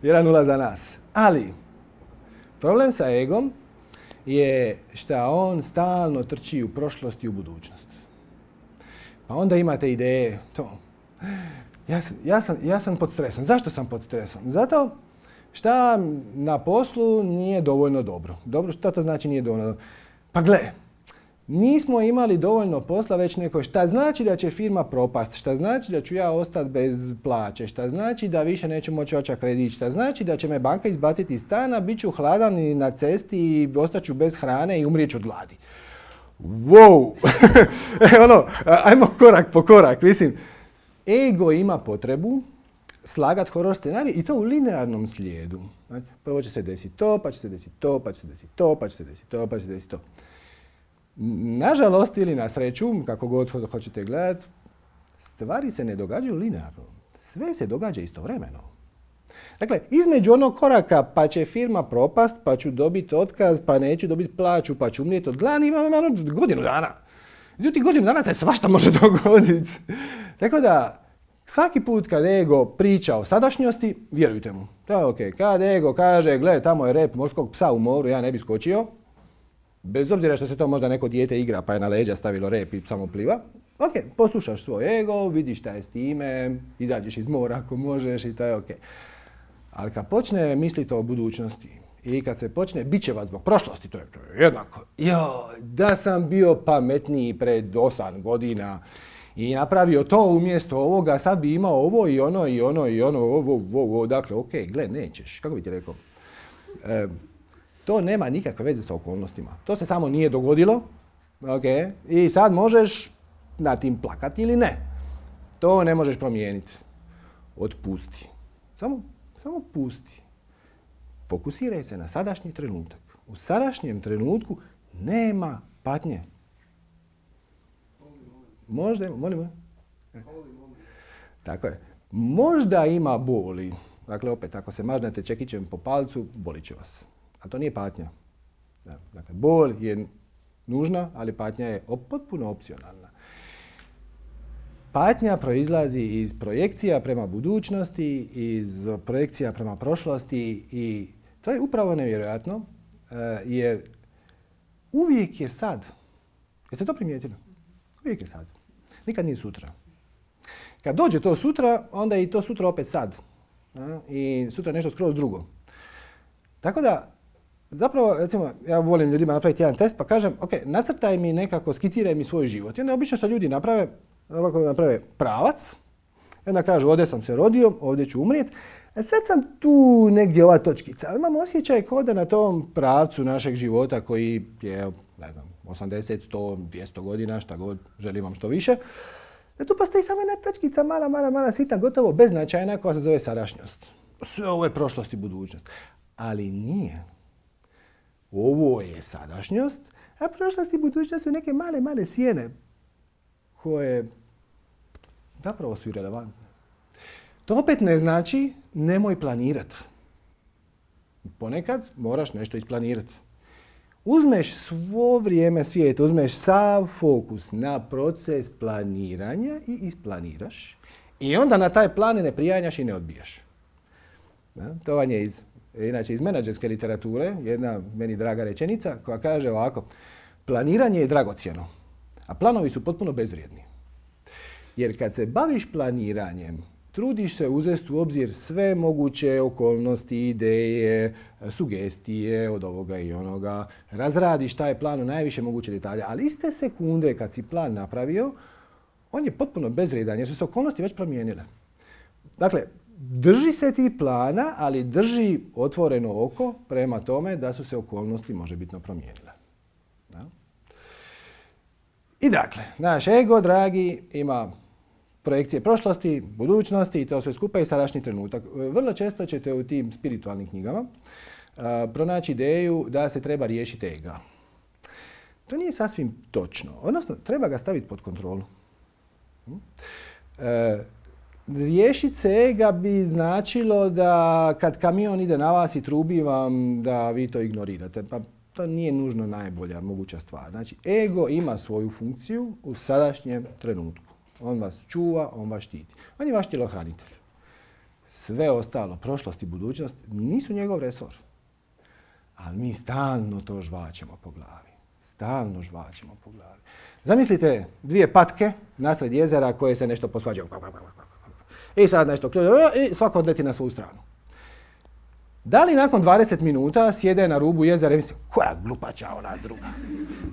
jedan nula za nas. Ali, problem sa egom je što on stalno trči u prošlost i u budućnost. Pa onda imate ideje, to, ja sam, ja sam, ja sam pod stresom. Zašto sam pod stresom? Zato šta na poslu nije dovoljno dobro. Dobro, šta to znači nije dovoljno dobro? Pa gle, nismo imali dovoljno posla, već neko šta znači da će firma propast, šta znači da ću ja ostati bez plaće, šta znači da više neću moći očak kredit, šta znači da će me banka izbaciti iz stana, bit ću hladan i na cesti i ostaću bez hrane i umrijeću od gladi. Wow! e, ono, ajmo korak po korak, mislim. Ego ima potrebu slagat horor scenarij i to u linearnom slijedu. Znači, prvo će se desiti to, pa će se desiti to, pa će se desiti to, pa će se desiti to, pa će se desiti to. Nažalost ili na sreću, kako god hoćete gledati, stvari se ne događaju linearno. Sve se događa istovremeno. Dakle, između onog koraka pa će firma propast, pa ću dobiti otkaz, pa neću dobiti plaću, pa ću umrijeti od gladi, ima godinu dana. Znači, godinu dana se svašta može dogoditi. Tako da, svaki put kad ego priča o sadašnjosti, vjerujte mu. To je okej. Kad ego kaže, gle, tamo je rep morskog psa u moru, ja ne bi skočio, bez obzira što se to možda neko dijete igra pa je na leđa stavilo rep i samo pliva, ok, poslušaš svoj ego, vidiš šta je s time, izađeš iz mora ako možeš i to je ok. Ali kad počne misliti o budućnosti i kad se počne bičevat zbog prošlosti, to je, to je jednako. Jo, da sam bio pametniji pred osam godina i napravio to umjesto ovoga, sad bi imao ovo i ono i ono i ono, ovo, ovo, ovo. Dakle, ok, gle, nećeš. Kako bi ti rekao? E, to nema nikakve veze sa okolnostima. To se samo nije dogodilo. Okay. I sad možeš na tim plakati ili ne. To ne možeš promijeniti. Otpusti. Samo, samo pusti. Fokusiraj se na sadašnji trenutak. U sadašnjem trenutku nema patnje. Možda ima, molim, tako je. Možda ima boli. Dakle, opet, ako se mažnete čekićem po palcu, bolit će vas. A to nije patnja. Dakle, bol je nužna, ali patnja je potpuno opcionalna. Patnja proizlazi iz projekcija prema budućnosti, iz projekcija prema prošlosti i to je upravo nevjerojatno, jer uvijek je sad. Jeste to primijetili? Uvijek je sad. Nikad nije sutra. Kad dođe to sutra, onda je i to sutra opet sad. I sutra nešto skroz drugo. Tako da, zapravo, recimo, ja volim ljudima napraviti jedan test pa kažem, ok, nacrtaj mi nekako, skiciraj mi svoj život. I onda obično što ljudi naprave, ovako naprave pravac, i onda kažu, ovdje sam se rodio, ovdje ću umrijeti, a sad sam tu negdje ova točkica. Imam osjećaj kao da na tom pravcu našeg života koji je, ne znam, osamdeset, sto, dvjesto godina, šta god, želim vam što više, da tu postoji samo jedna točkica, mala, mala, mala, sitna, gotovo beznačajna koja se zove sadašnjost. Sve ovo je prošlost i budućnost. Ali nije. Ovo je sadašnjost, a prošlost i budućnost su neke male, male sjene koje zapravo su irelevantne. To opet ne znači nemoj planirati. Ponekad moraš nešto isplanirati. Uzmeš svo vrijeme svijeta, uzmeš sav fokus na proces planiranja i isplaniraš i onda na taj plan ne prijanjaš i ne odbijaš. Da? To vam je iz, inače iz menadžerske literature jedna meni draga rečenica koja kaže ovako: planiranje je dragocjeno, A planovi su potpuno bezvrijedni. Jer kad se baviš planiranjem, trudiš se uzeti u obzir sve moguće okolnosti, ideje, sugestije od ovoga i onoga. Razradiš taj plan u najviše moguće detalja, ali iste sekunde kad si plan napravio, on je potpuno bezvrijedan jer su se okolnosti već promijenile. Dakle, drži se ti plana, ali drži otvoreno oko prema tome da su se okolnosti možebitno promijenile. Da? I dakle, naš ego, dragi, ima projekcije prošlosti, budućnosti i to sve skupa i sadašnji trenutak. Vrlo često ćete u tim spiritualnim knjigama uh, pronaći ideju da se treba riješiti ega. To nije sasvim točno. Odnosno, treba ga staviti pod kontrolu. Uh, riješiti se ega bi značilo da kad kamion ide na vas i trubi vam da vi to ignorirate. Pa to nije nužno najbolja moguća stvar. Znači, ego ima svoju funkciju u sadašnjem trenutku. On vas čuva, on vas štiti. On je vaš tjelohranitelj. Sve ostalo, prošlost i budućnost, nisu njegov resor. Ali mi stalno to žvaćemo po glavi. Stalno žvaćemo po glavi. Zamislite dvije patke nasred jezera koje se nešto posvađaju. I sad nešto i svako odleti na svoju stranu. Da li nakon dvadeset minuta sjede na rubu jezera i misle, koja glupača ona druga?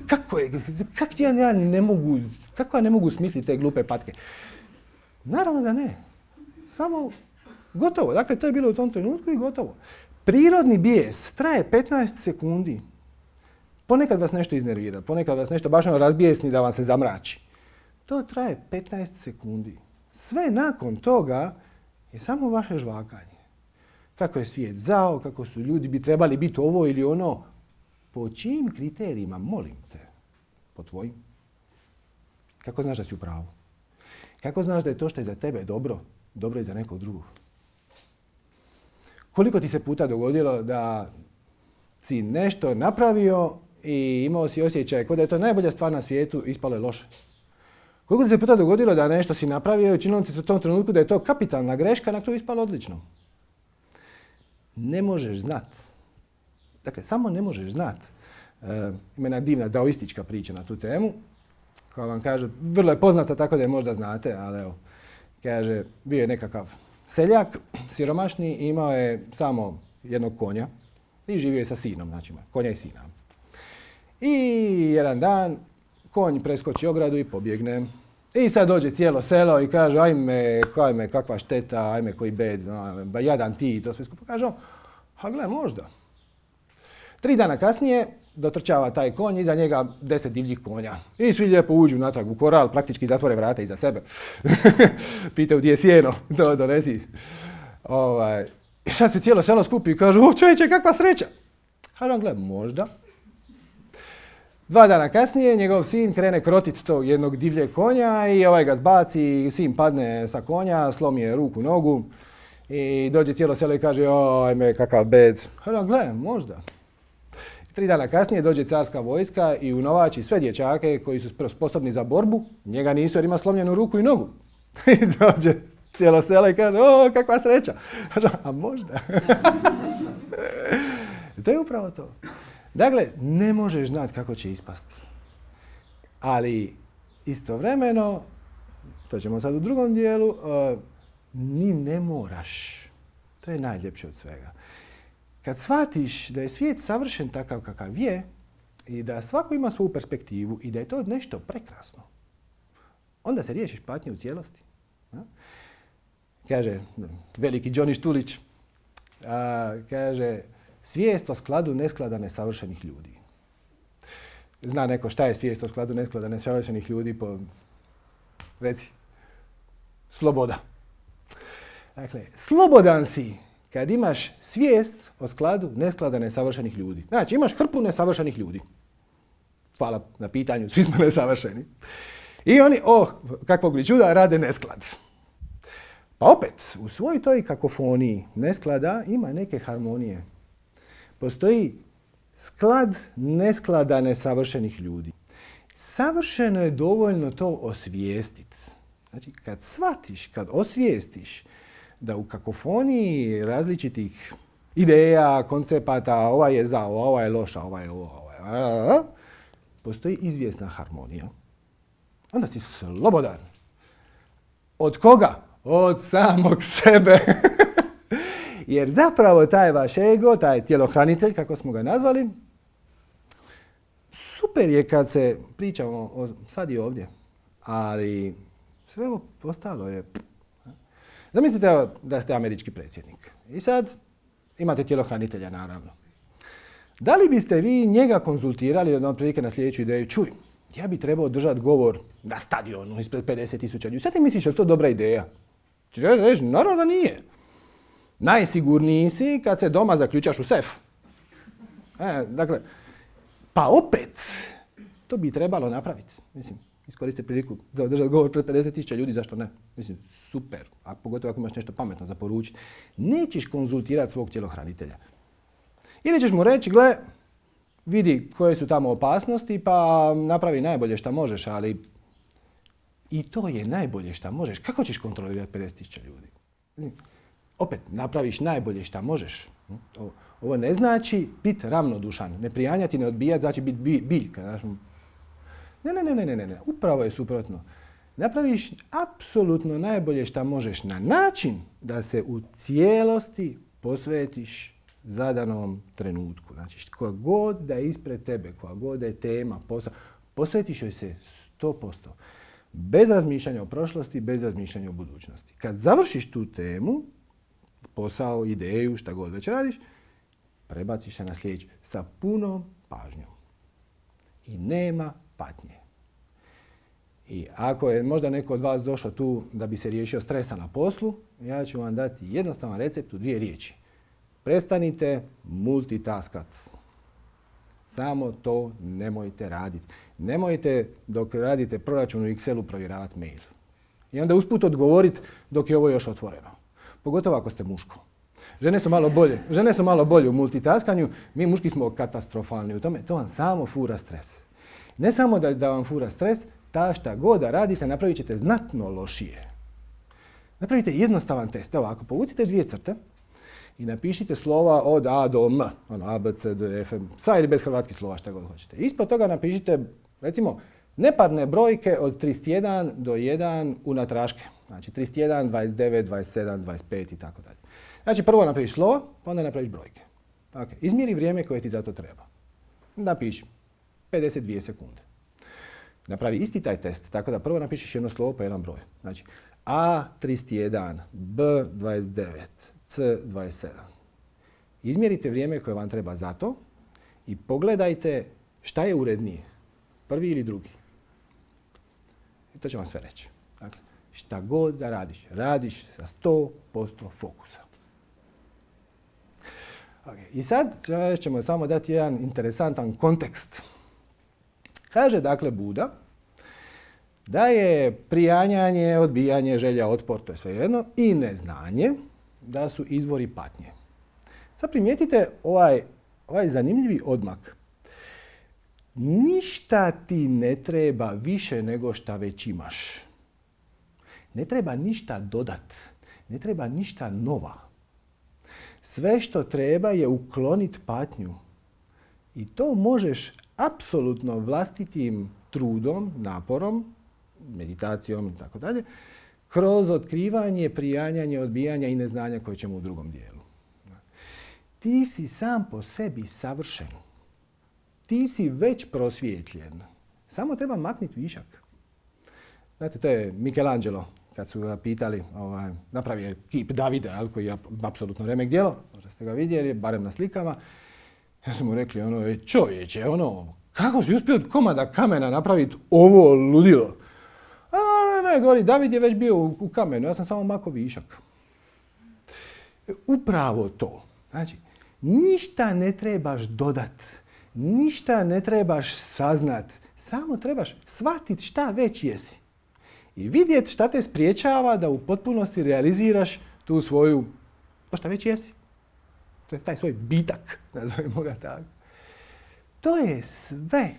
Kako je, kak ja, ja ne mogu, kako ja ne mogu smisliti te glupe patke? Naravno da ne. Samo gotovo. Dakle, to je bilo u tom trenutku i gotovo. Prirodni bijes traje petnaest sekundi. Ponekad vas nešto iznervira, ponekad vas nešto baš ono razbijesni da vam se zamrači. To traje petnaest sekundi. Sve nakon toga je samo vaše žvakanje. Kako je svijet zao, kako su ljudi bi trebali biti ovo ili ono. Po čijim kriterijima, molim te? Po tvojim? Kako znaš da si u pravu? Kako znaš da je to što je za tebe dobro, dobro i za nekog drugog? Koliko ti se puta dogodilo da si nešto napravio i imao si osjećaj kao da je to najbolja stvar na svijetu, ispalo je loše? Koliko ti se puta dogodilo da nešto si napravio i činilo ti se u tom trenutku da je to kapitalna greška, na kraju ispalo odlično? Ne možeš znat. Dakle, samo ne možeš znat. E, ima jedna divna daoistička priča na tu temu, koja vam kaže, vrlo je poznata tako da je možda znate, ali evo, kaže, bio je nekakav seljak, siromašni, imao je samo jednog konja i živio je sa sinom, znači konja i sina. I jedan dan konj preskoči ogradu i pobjegne. I sad dođe cijelo selo i kaže, ajme, ajme, kakva šteta, ajme, koji bed, ba jadan ti i to sve skupo. Kaže on, a gle, možda. Tri dana kasnije dotrčava taj konj, iza njega deset divljih konja. I svi lijepo uđu natrag u koral, praktički zatvore vrata iza sebe. Pitaju gdje je sjeno, to donesi. Ovaj. I sad se cijelo selo skupi i kažu, o čovječe, kakva sreća. Kaže on, gle, možda. Dva dana kasnije njegov sin krene krotit tog jednog divljeg konja i ovaj ga zbaci, sin padne sa konja, slomi je ruku, nogu i dođe cijelo selo i kaže, ajme, kakav bed. Kaže, gle, možda. Tri dana kasnije dođe carska vojska i unovači sve dječake koji su sposobni za borbu, njega nisu jer ima slomljenu ruku i nogu. I dođe cijelo selo i kaže, o, kakva sreća. Kaže, a možda. To je upravo to. Dakle, ne možeš znati kako će ispasti. Ali istovremeno, to ćemo sad u drugom dijelu, uh, ni ne moraš. To je najljepše od svega. Kad shvatiš da je svijet savršen takav kakav je i da svako ima svoju perspektivu i da je to nešto prekrasno, onda se riješiš patnje u cijelosti. Ja? Kaže veliki Johnny Štulić, a, kaže, svijest o skladu nesklada nesavršenih ljudi. Zna neko šta je svijest o skladu nesklada nesavršenih ljudi? Po... Reci. Sloboda. Dakle, slobodan si kad imaš svijest o skladu nesklada nesavršenih ljudi. Znači, imaš hrpu nesavršenih ljudi. Hvala na pitanju, svi smo nesavršeni. I oni, oh, kakvog li čuda, rade nesklad. Pa opet, u svojoj toj kakofoniji nesklada ima neke harmonije. Postoji sklad nesklada nesavršenih ljudi. Savršeno je dovoljno to osvijestiti. Znači, kad shvatiš, kad osvijestiš da u kakofoniji različitih ideja, koncepata, ova je za, ova je loša, ova je ovo, ova je... Postoji izvjesna harmonija. onda si slobodan. Od koga? Od samog sebe. Jer zapravo taj vaš ego, taj tjelohranitelj, kako smo ga nazvali, super je kad se pričamo o, sad i ovdje, ali sve ovo ostalo je... Zamislite da ste američki predsjednik i sad imate tjelohranitelja, naravno. Da li biste vi njega konzultirali od otprilike na sljedeću ideju? Čuj, ja bi trebao držati govor na stadionu ispred pedeset tisuća ljudi. Sad ti misliš, je li to dobra ideja? Če ja reći, naravno da nije. Najsigurniji si kad se doma zaključaš u sef. E, dakle, pa opet, to bi trebalo napraviti. Mislim, iskoristite priliku za održati govor pred pedeset tisuća ljudi, zašto ne? Mislim, super. A pogotovo ako imaš nešto pametno za poručiti. Nećeš konzultirati svog tjelohranitelja. Ili ćeš mu reći, gle, vidi koje su tamo opasnosti, pa napravi najbolje što možeš, ali i to je najbolje što možeš. Kako ćeš kontrolirati pedeset tisuća ljudi? Opet, napraviš najbolje što možeš. Ovo ne znači biti ravnodušan, ne prijanjati, ne odbijati, znači biti biljka. Ne, ne, ne, ne, ne, ne, upravo je suprotno. Napraviš apsolutno najbolje što možeš na način da se u cijelosti posvetiš zadanom trenutku. Znači, koja god da je ispred tebe, koja god da je tema, posao, posvetiš joj se sto posto. Bez razmišljanja o prošlosti, bez razmišljanja o budućnosti. Kad završiš tu temu, posao, ideju, šta god već radiš, prebaciš se na sljedeću sa punom pažnjom. I nema patnje. I ako je možda neko od vas došao tu da bi se riješio stresa na poslu, ja ću vam dati jednostavan recept u dvije riječi. Prestanite multitaskat. Samo to nemojte raditi. Nemojte dok radite proračun u Excelu provjeravati mail. I onda usput odgovoriti dok je ovo još otvoreno. Pogotovo ako ste muško. Žene su malo bolje. Žene su malo bolje u multitaskanju. Mi muški smo katastrofalni u tome. To vam samo fura stres. Ne samo da, da vam fura stres, ta šta god da radite napravit ćete znatno lošije. Napravite jednostavan test. Evo, ako povucite dvije crte i napišite slova od A do M, ono A, B, C, D, F, sa ili bez hrvatskih slova, šta god hoćete. Ispod toga napišite, recimo, neparne brojke od trideset jedan do jedan unatraške. Znači trideset jedan, dvadeset devet, dvadeset sedam, dvadeset pet i tako dalje. Znači prvo napraviš slovo, pa onda napraviš brojke. Okay. Izmjeri vrijeme koje ti za to treba. Napiši pedeset dvije sekunde. Napravi isti taj test, tako da prvo napišeš jedno slovo pa jedan broj. Znači A trideset jedan, B dvadeset devet, C dvadeset sedam. Izmjerite vrijeme koje vam treba za to i pogledajte šta je urednije, prvi ili drugi. I to će vam sve reći. Dakle, šta god da radiš, radiš sa sto posto fokusa. Okay. I sad ćemo samo dati jedan interesantan kontekst. Kaže dakle Buda da je prijanjanje, odbijanje, želja, otpor, to je svejedno, i neznanje da su izvori patnje. Sad primijetite ovaj, ovaj zanimljivi odmak. Ništa ti ne treba više nego šta već imaš. Ne treba ništa dodat. Ne treba ništa nova. Sve što treba je ukloniti patnju. I to možeš apsolutno vlastitim trudom, naporom, meditacijom i tako dalje, kroz otkrivanje, prijanjanje, odbijanja i neznanja koje ćemo u drugom dijelu. Ti si sam po sebi savršen. Ti si već prosvjetljen. Samo treba makniti višak. Znate, to je Michelangelo, kad su ga pitali, ovaj, napravio je kip Davida, koji je apsolutno remek djelo, možda ste ga vidjeli, barem na slikama. Ja sam mu rekli, ono, čovječe, ono, kako si uspio od komada kamena napraviti ovo ludilo? A ne, ne, govori, David je već bio u, u kamenu, ja sam samo mako višak. Upravo to. Znači, ništa ne trebaš dodat, ništa ne trebaš saznat, samo trebaš shvatiti šta već jesi. I vidjeti šta te spriječava da u potpunosti realiziraš tu svoju, to šta već jesi. To je taj svoj bitak, nazovimo ga tako. To je sve.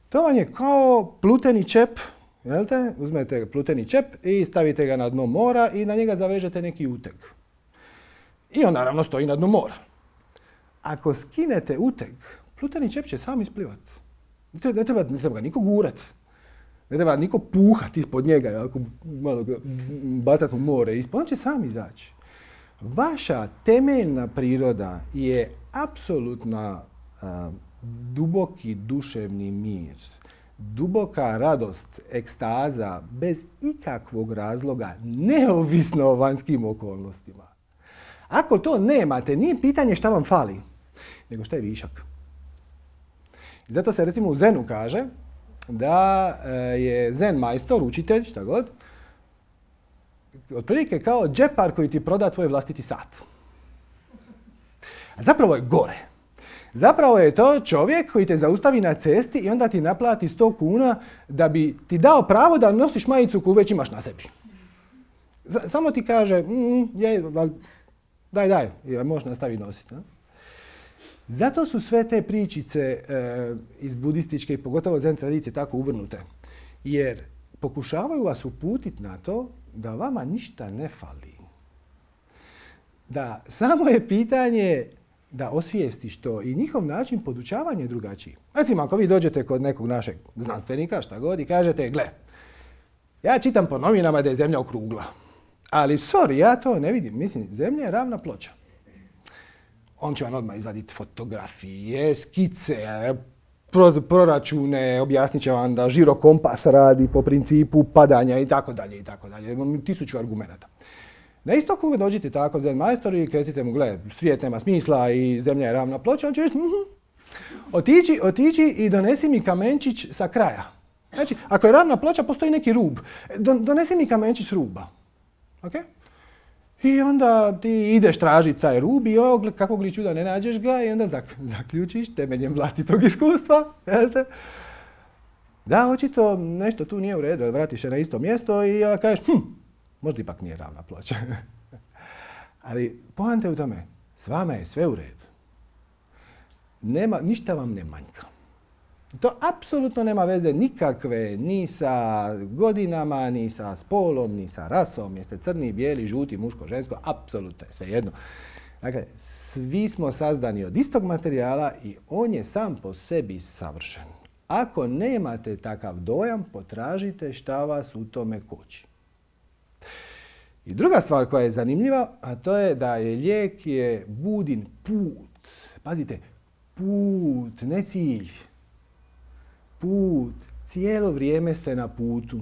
To vam je kao pluteni čep, jel te? Uzmete pluteni čep i stavite ga na dno mora i na njega zavežete neki uteg. I on naravno stoji na dnu mora. Ako skinete uteg, pluteni čep će sam isplivati. Ne treba, ne treba ga niko gurat. Ne treba niko puhati ispod njega, ako malo ga bacati u more ispod, on će sam izaći. Vaša temeljna priroda je apsolutna a, duboki duševni mir, duboka radost, ekstaza, bez ikakvog razloga, neovisno o vanjskim okolnostima. Ako to nemate, nije pitanje šta vam fali, nego šta je višak. I zato se recimo u Zenu kaže da je Zen majstor, učitelj, šta god, otprilike kao džepar koji ti proda tvoj vlastiti sat. A zapravo je gore. Zapravo je to čovjek koji te zaustavi na cesti i onda ti naplati sto kuna da bi ti dao pravo da nosiš majicu koju već imaš na sebi. Z- samo ti kaže, mm, je, daj, daj, možeš nastaviti nositi. Ne? Zato su sve te pričice e, iz budističke i pogotovo zen tradicije tako uvrnute. Jer pokušavaju vas uputiti na to da vama ništa ne fali. Da samo je pitanje da osvijestiš to i njihov način podučavanja je drugačiji. Recimo, ako vi dođete kod nekog našeg znanstvenika, šta god, i kažete, gle, ja čitam po novinama da je Zemlja okrugla. Ali, sorry, ja to ne vidim. Mislim, Zemlja je ravna ploča. On će vam odmah izvaditi fotografije, skice, pro, proračune, objasnit će vam da žirokompas radi po principu padanja i tako dalje i tako dalje. Imam tisuću argumenata. Na istoku dođite tako zen majstor i recite mu, gle, svijet nema smisla i Zemlja je ravna ploča, on će reći, mm-hmm. otići, otići i donesi mi kamenčić sa kraja. Znači, ako je ravna ploča, postoji neki rub. Don, donesi mi kamenčić s ruba. Okay? I onda ti ideš tražiti taj rub i ovog, kakvog li čuda ne nađeš ga i onda zak, zaključiš temeljem vlastitog iskustva. Jelte? Da, očito nešto tu nije u redu, vratiš se na isto mjesto i uh, kažeš, hm, možda ipak nije ravna ploča. Ali poanta je u tome, s vama je sve u redu. Nema, ništa vam ne manjka. To apsolutno nema veze nikakve ni sa godinama, ni sa spolom, ni sa rasom. Jeste crni, bijeli, žuti, muško, žensko, apsolutno je sve jedno. Dakle, svi smo sazdani od istog materijala i on je sam po sebi savršen. Ako nemate takav dojam, potražite šta vas u tome koči. I druga stvar koja je zanimljiva, a to je da je lijek je budin put. Pazite, put, ne cilj. Put. Cijelo vrijeme ste na putu.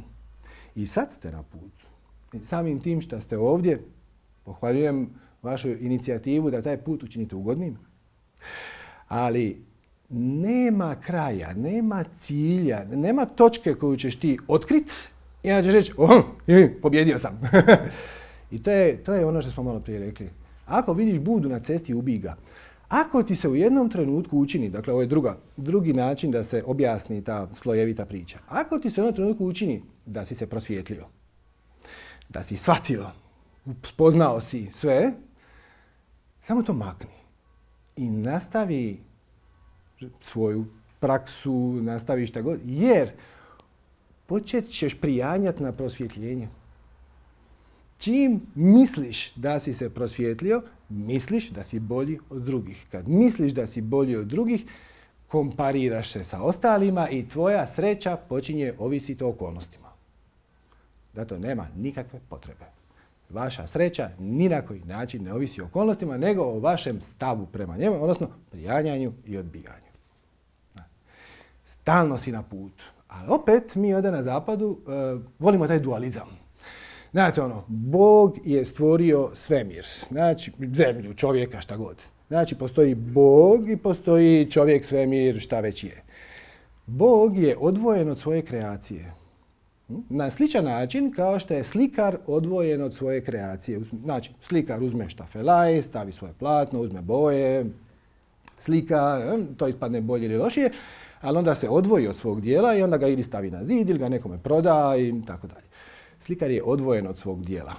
I sad ste na putu. I samim tim što ste ovdje, pohvaljujem vašu inicijativu da taj put učinite ugodnim. Ali nema kraja, nema cilja, nema točke koju ćeš ti otkriti i onda ćeš reći, oh, pobjedio sam. I to je, to je ono što smo malo prije rekli. Ako vidiš budu na cesti, ubij ga. Ako ti se u jednom trenutku učini, dakle ovo je druga, drugi način da se objasni ta slojevita priča. Ako ti se u jednom trenutku učini da si se prosvijetlio, da si shvatio, spoznao si sve, samo to makni. I nastavi svoju praksu, nastavi šta god, jer počet ćeš prijanjati na prosvjetljenje. Čim misliš da si se prosvjetlio, misliš da si bolji od drugih. Kad misliš da si bolji od drugih, kompariraš se sa ostalima i tvoja sreća počinje ovisiti o okolnostima. Zato nema nikakve potrebe. Vaša sreća ni na koji način ne ovisi o okolnostima, nego o vašem stavu prema njemu, odnosno prijanjanju i odbijanju. Stalno si na putu. Ali opet mi ovdje na zapadu uh, volimo taj dualizam. Znate ono, Bog je stvorio svemir, znači zemlju, čovjeka, šta god. Znači postoji Bog i postoji čovjek, svemir, šta već je. Bog je odvojen od svoje kreacije. Na sličan način kao što je slikar odvojen od svoje kreacije. Znači, slikar uzme štafelaj, stavi svoje platno, uzme boje, slika, to ispadne bolje ili lošije, ali onda se odvoji od svog dijela i onda ga ili stavi na zid ili ga nekome proda i tako dalje. Slikar je odvojen od svog dijela.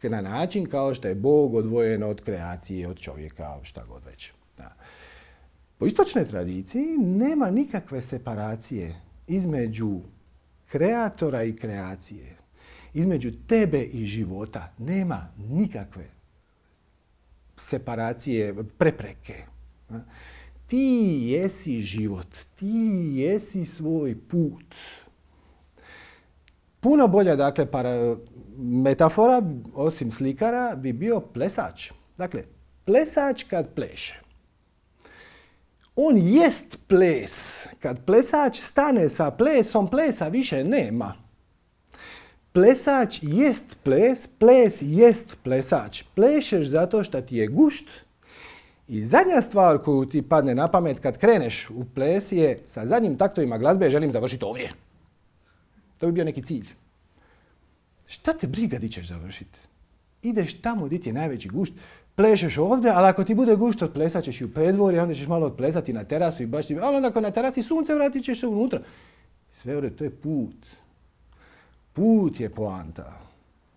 Na način kao što je Bog odvojen od kreacije, od čovjeka, šta god već. Da. Po istočnoj tradiciji nema nikakve separacije između kreatora i kreacije. Između tebe i života nema nikakve separacije, prepreke. Ti jesi život, ti jesi svoj put. Puno bolja, dakle, para, metafora, osim slikara, bi bio plesač. Dakle, plesač kad pleše. On jest ples. Kad plesač stane sa plesom, plesa više nema. Plesač jest ples, ples jest plesač. Plešeš zato što ti je gušt. I zadnja stvar koju ti padne na pamet kad kreneš u ples je sa zadnjim taktovima glazbe želim završiti ovdje. To bi bio neki cilj. Šta te briga di ćeš završiti? Ideš tamo di ti je najveći gušt, plešeš ovdje, ali ako ti bude gušt, odplesat ćeš i u predvorje, onda ćeš malo odplesati na terasu i baš ti... Ali onda ako na terasi sunce, vratit ćeš se unutra. Sve ovdje, to je put. Put je poanta.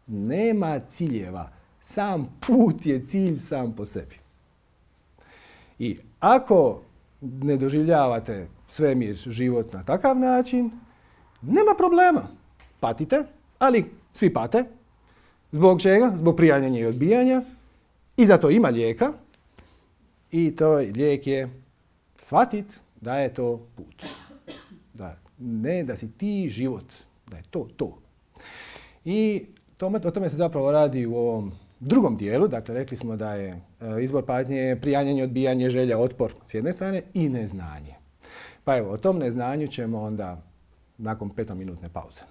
Nema ciljeva. Sam put je cilj sam po sebi. I ako ne doživljavate svemir, život na takav način, nema problema. Patite, ali svi pate. Zbog čega? Zbog prijanjanja i odbijanja. I zato ima lijeka. I to lijek je shvatit da je to put. Da, ne da si ti život. Da je to to. I tome, o tome se zapravo radi u ovom drugom dijelu. Dakle, rekli smo da je izbor patnje prijanjanje, odbijanje, želja, otpor s jedne strane i neznanje. Pa evo, o tom neznanju ćemo onda nakon petominutne pauze.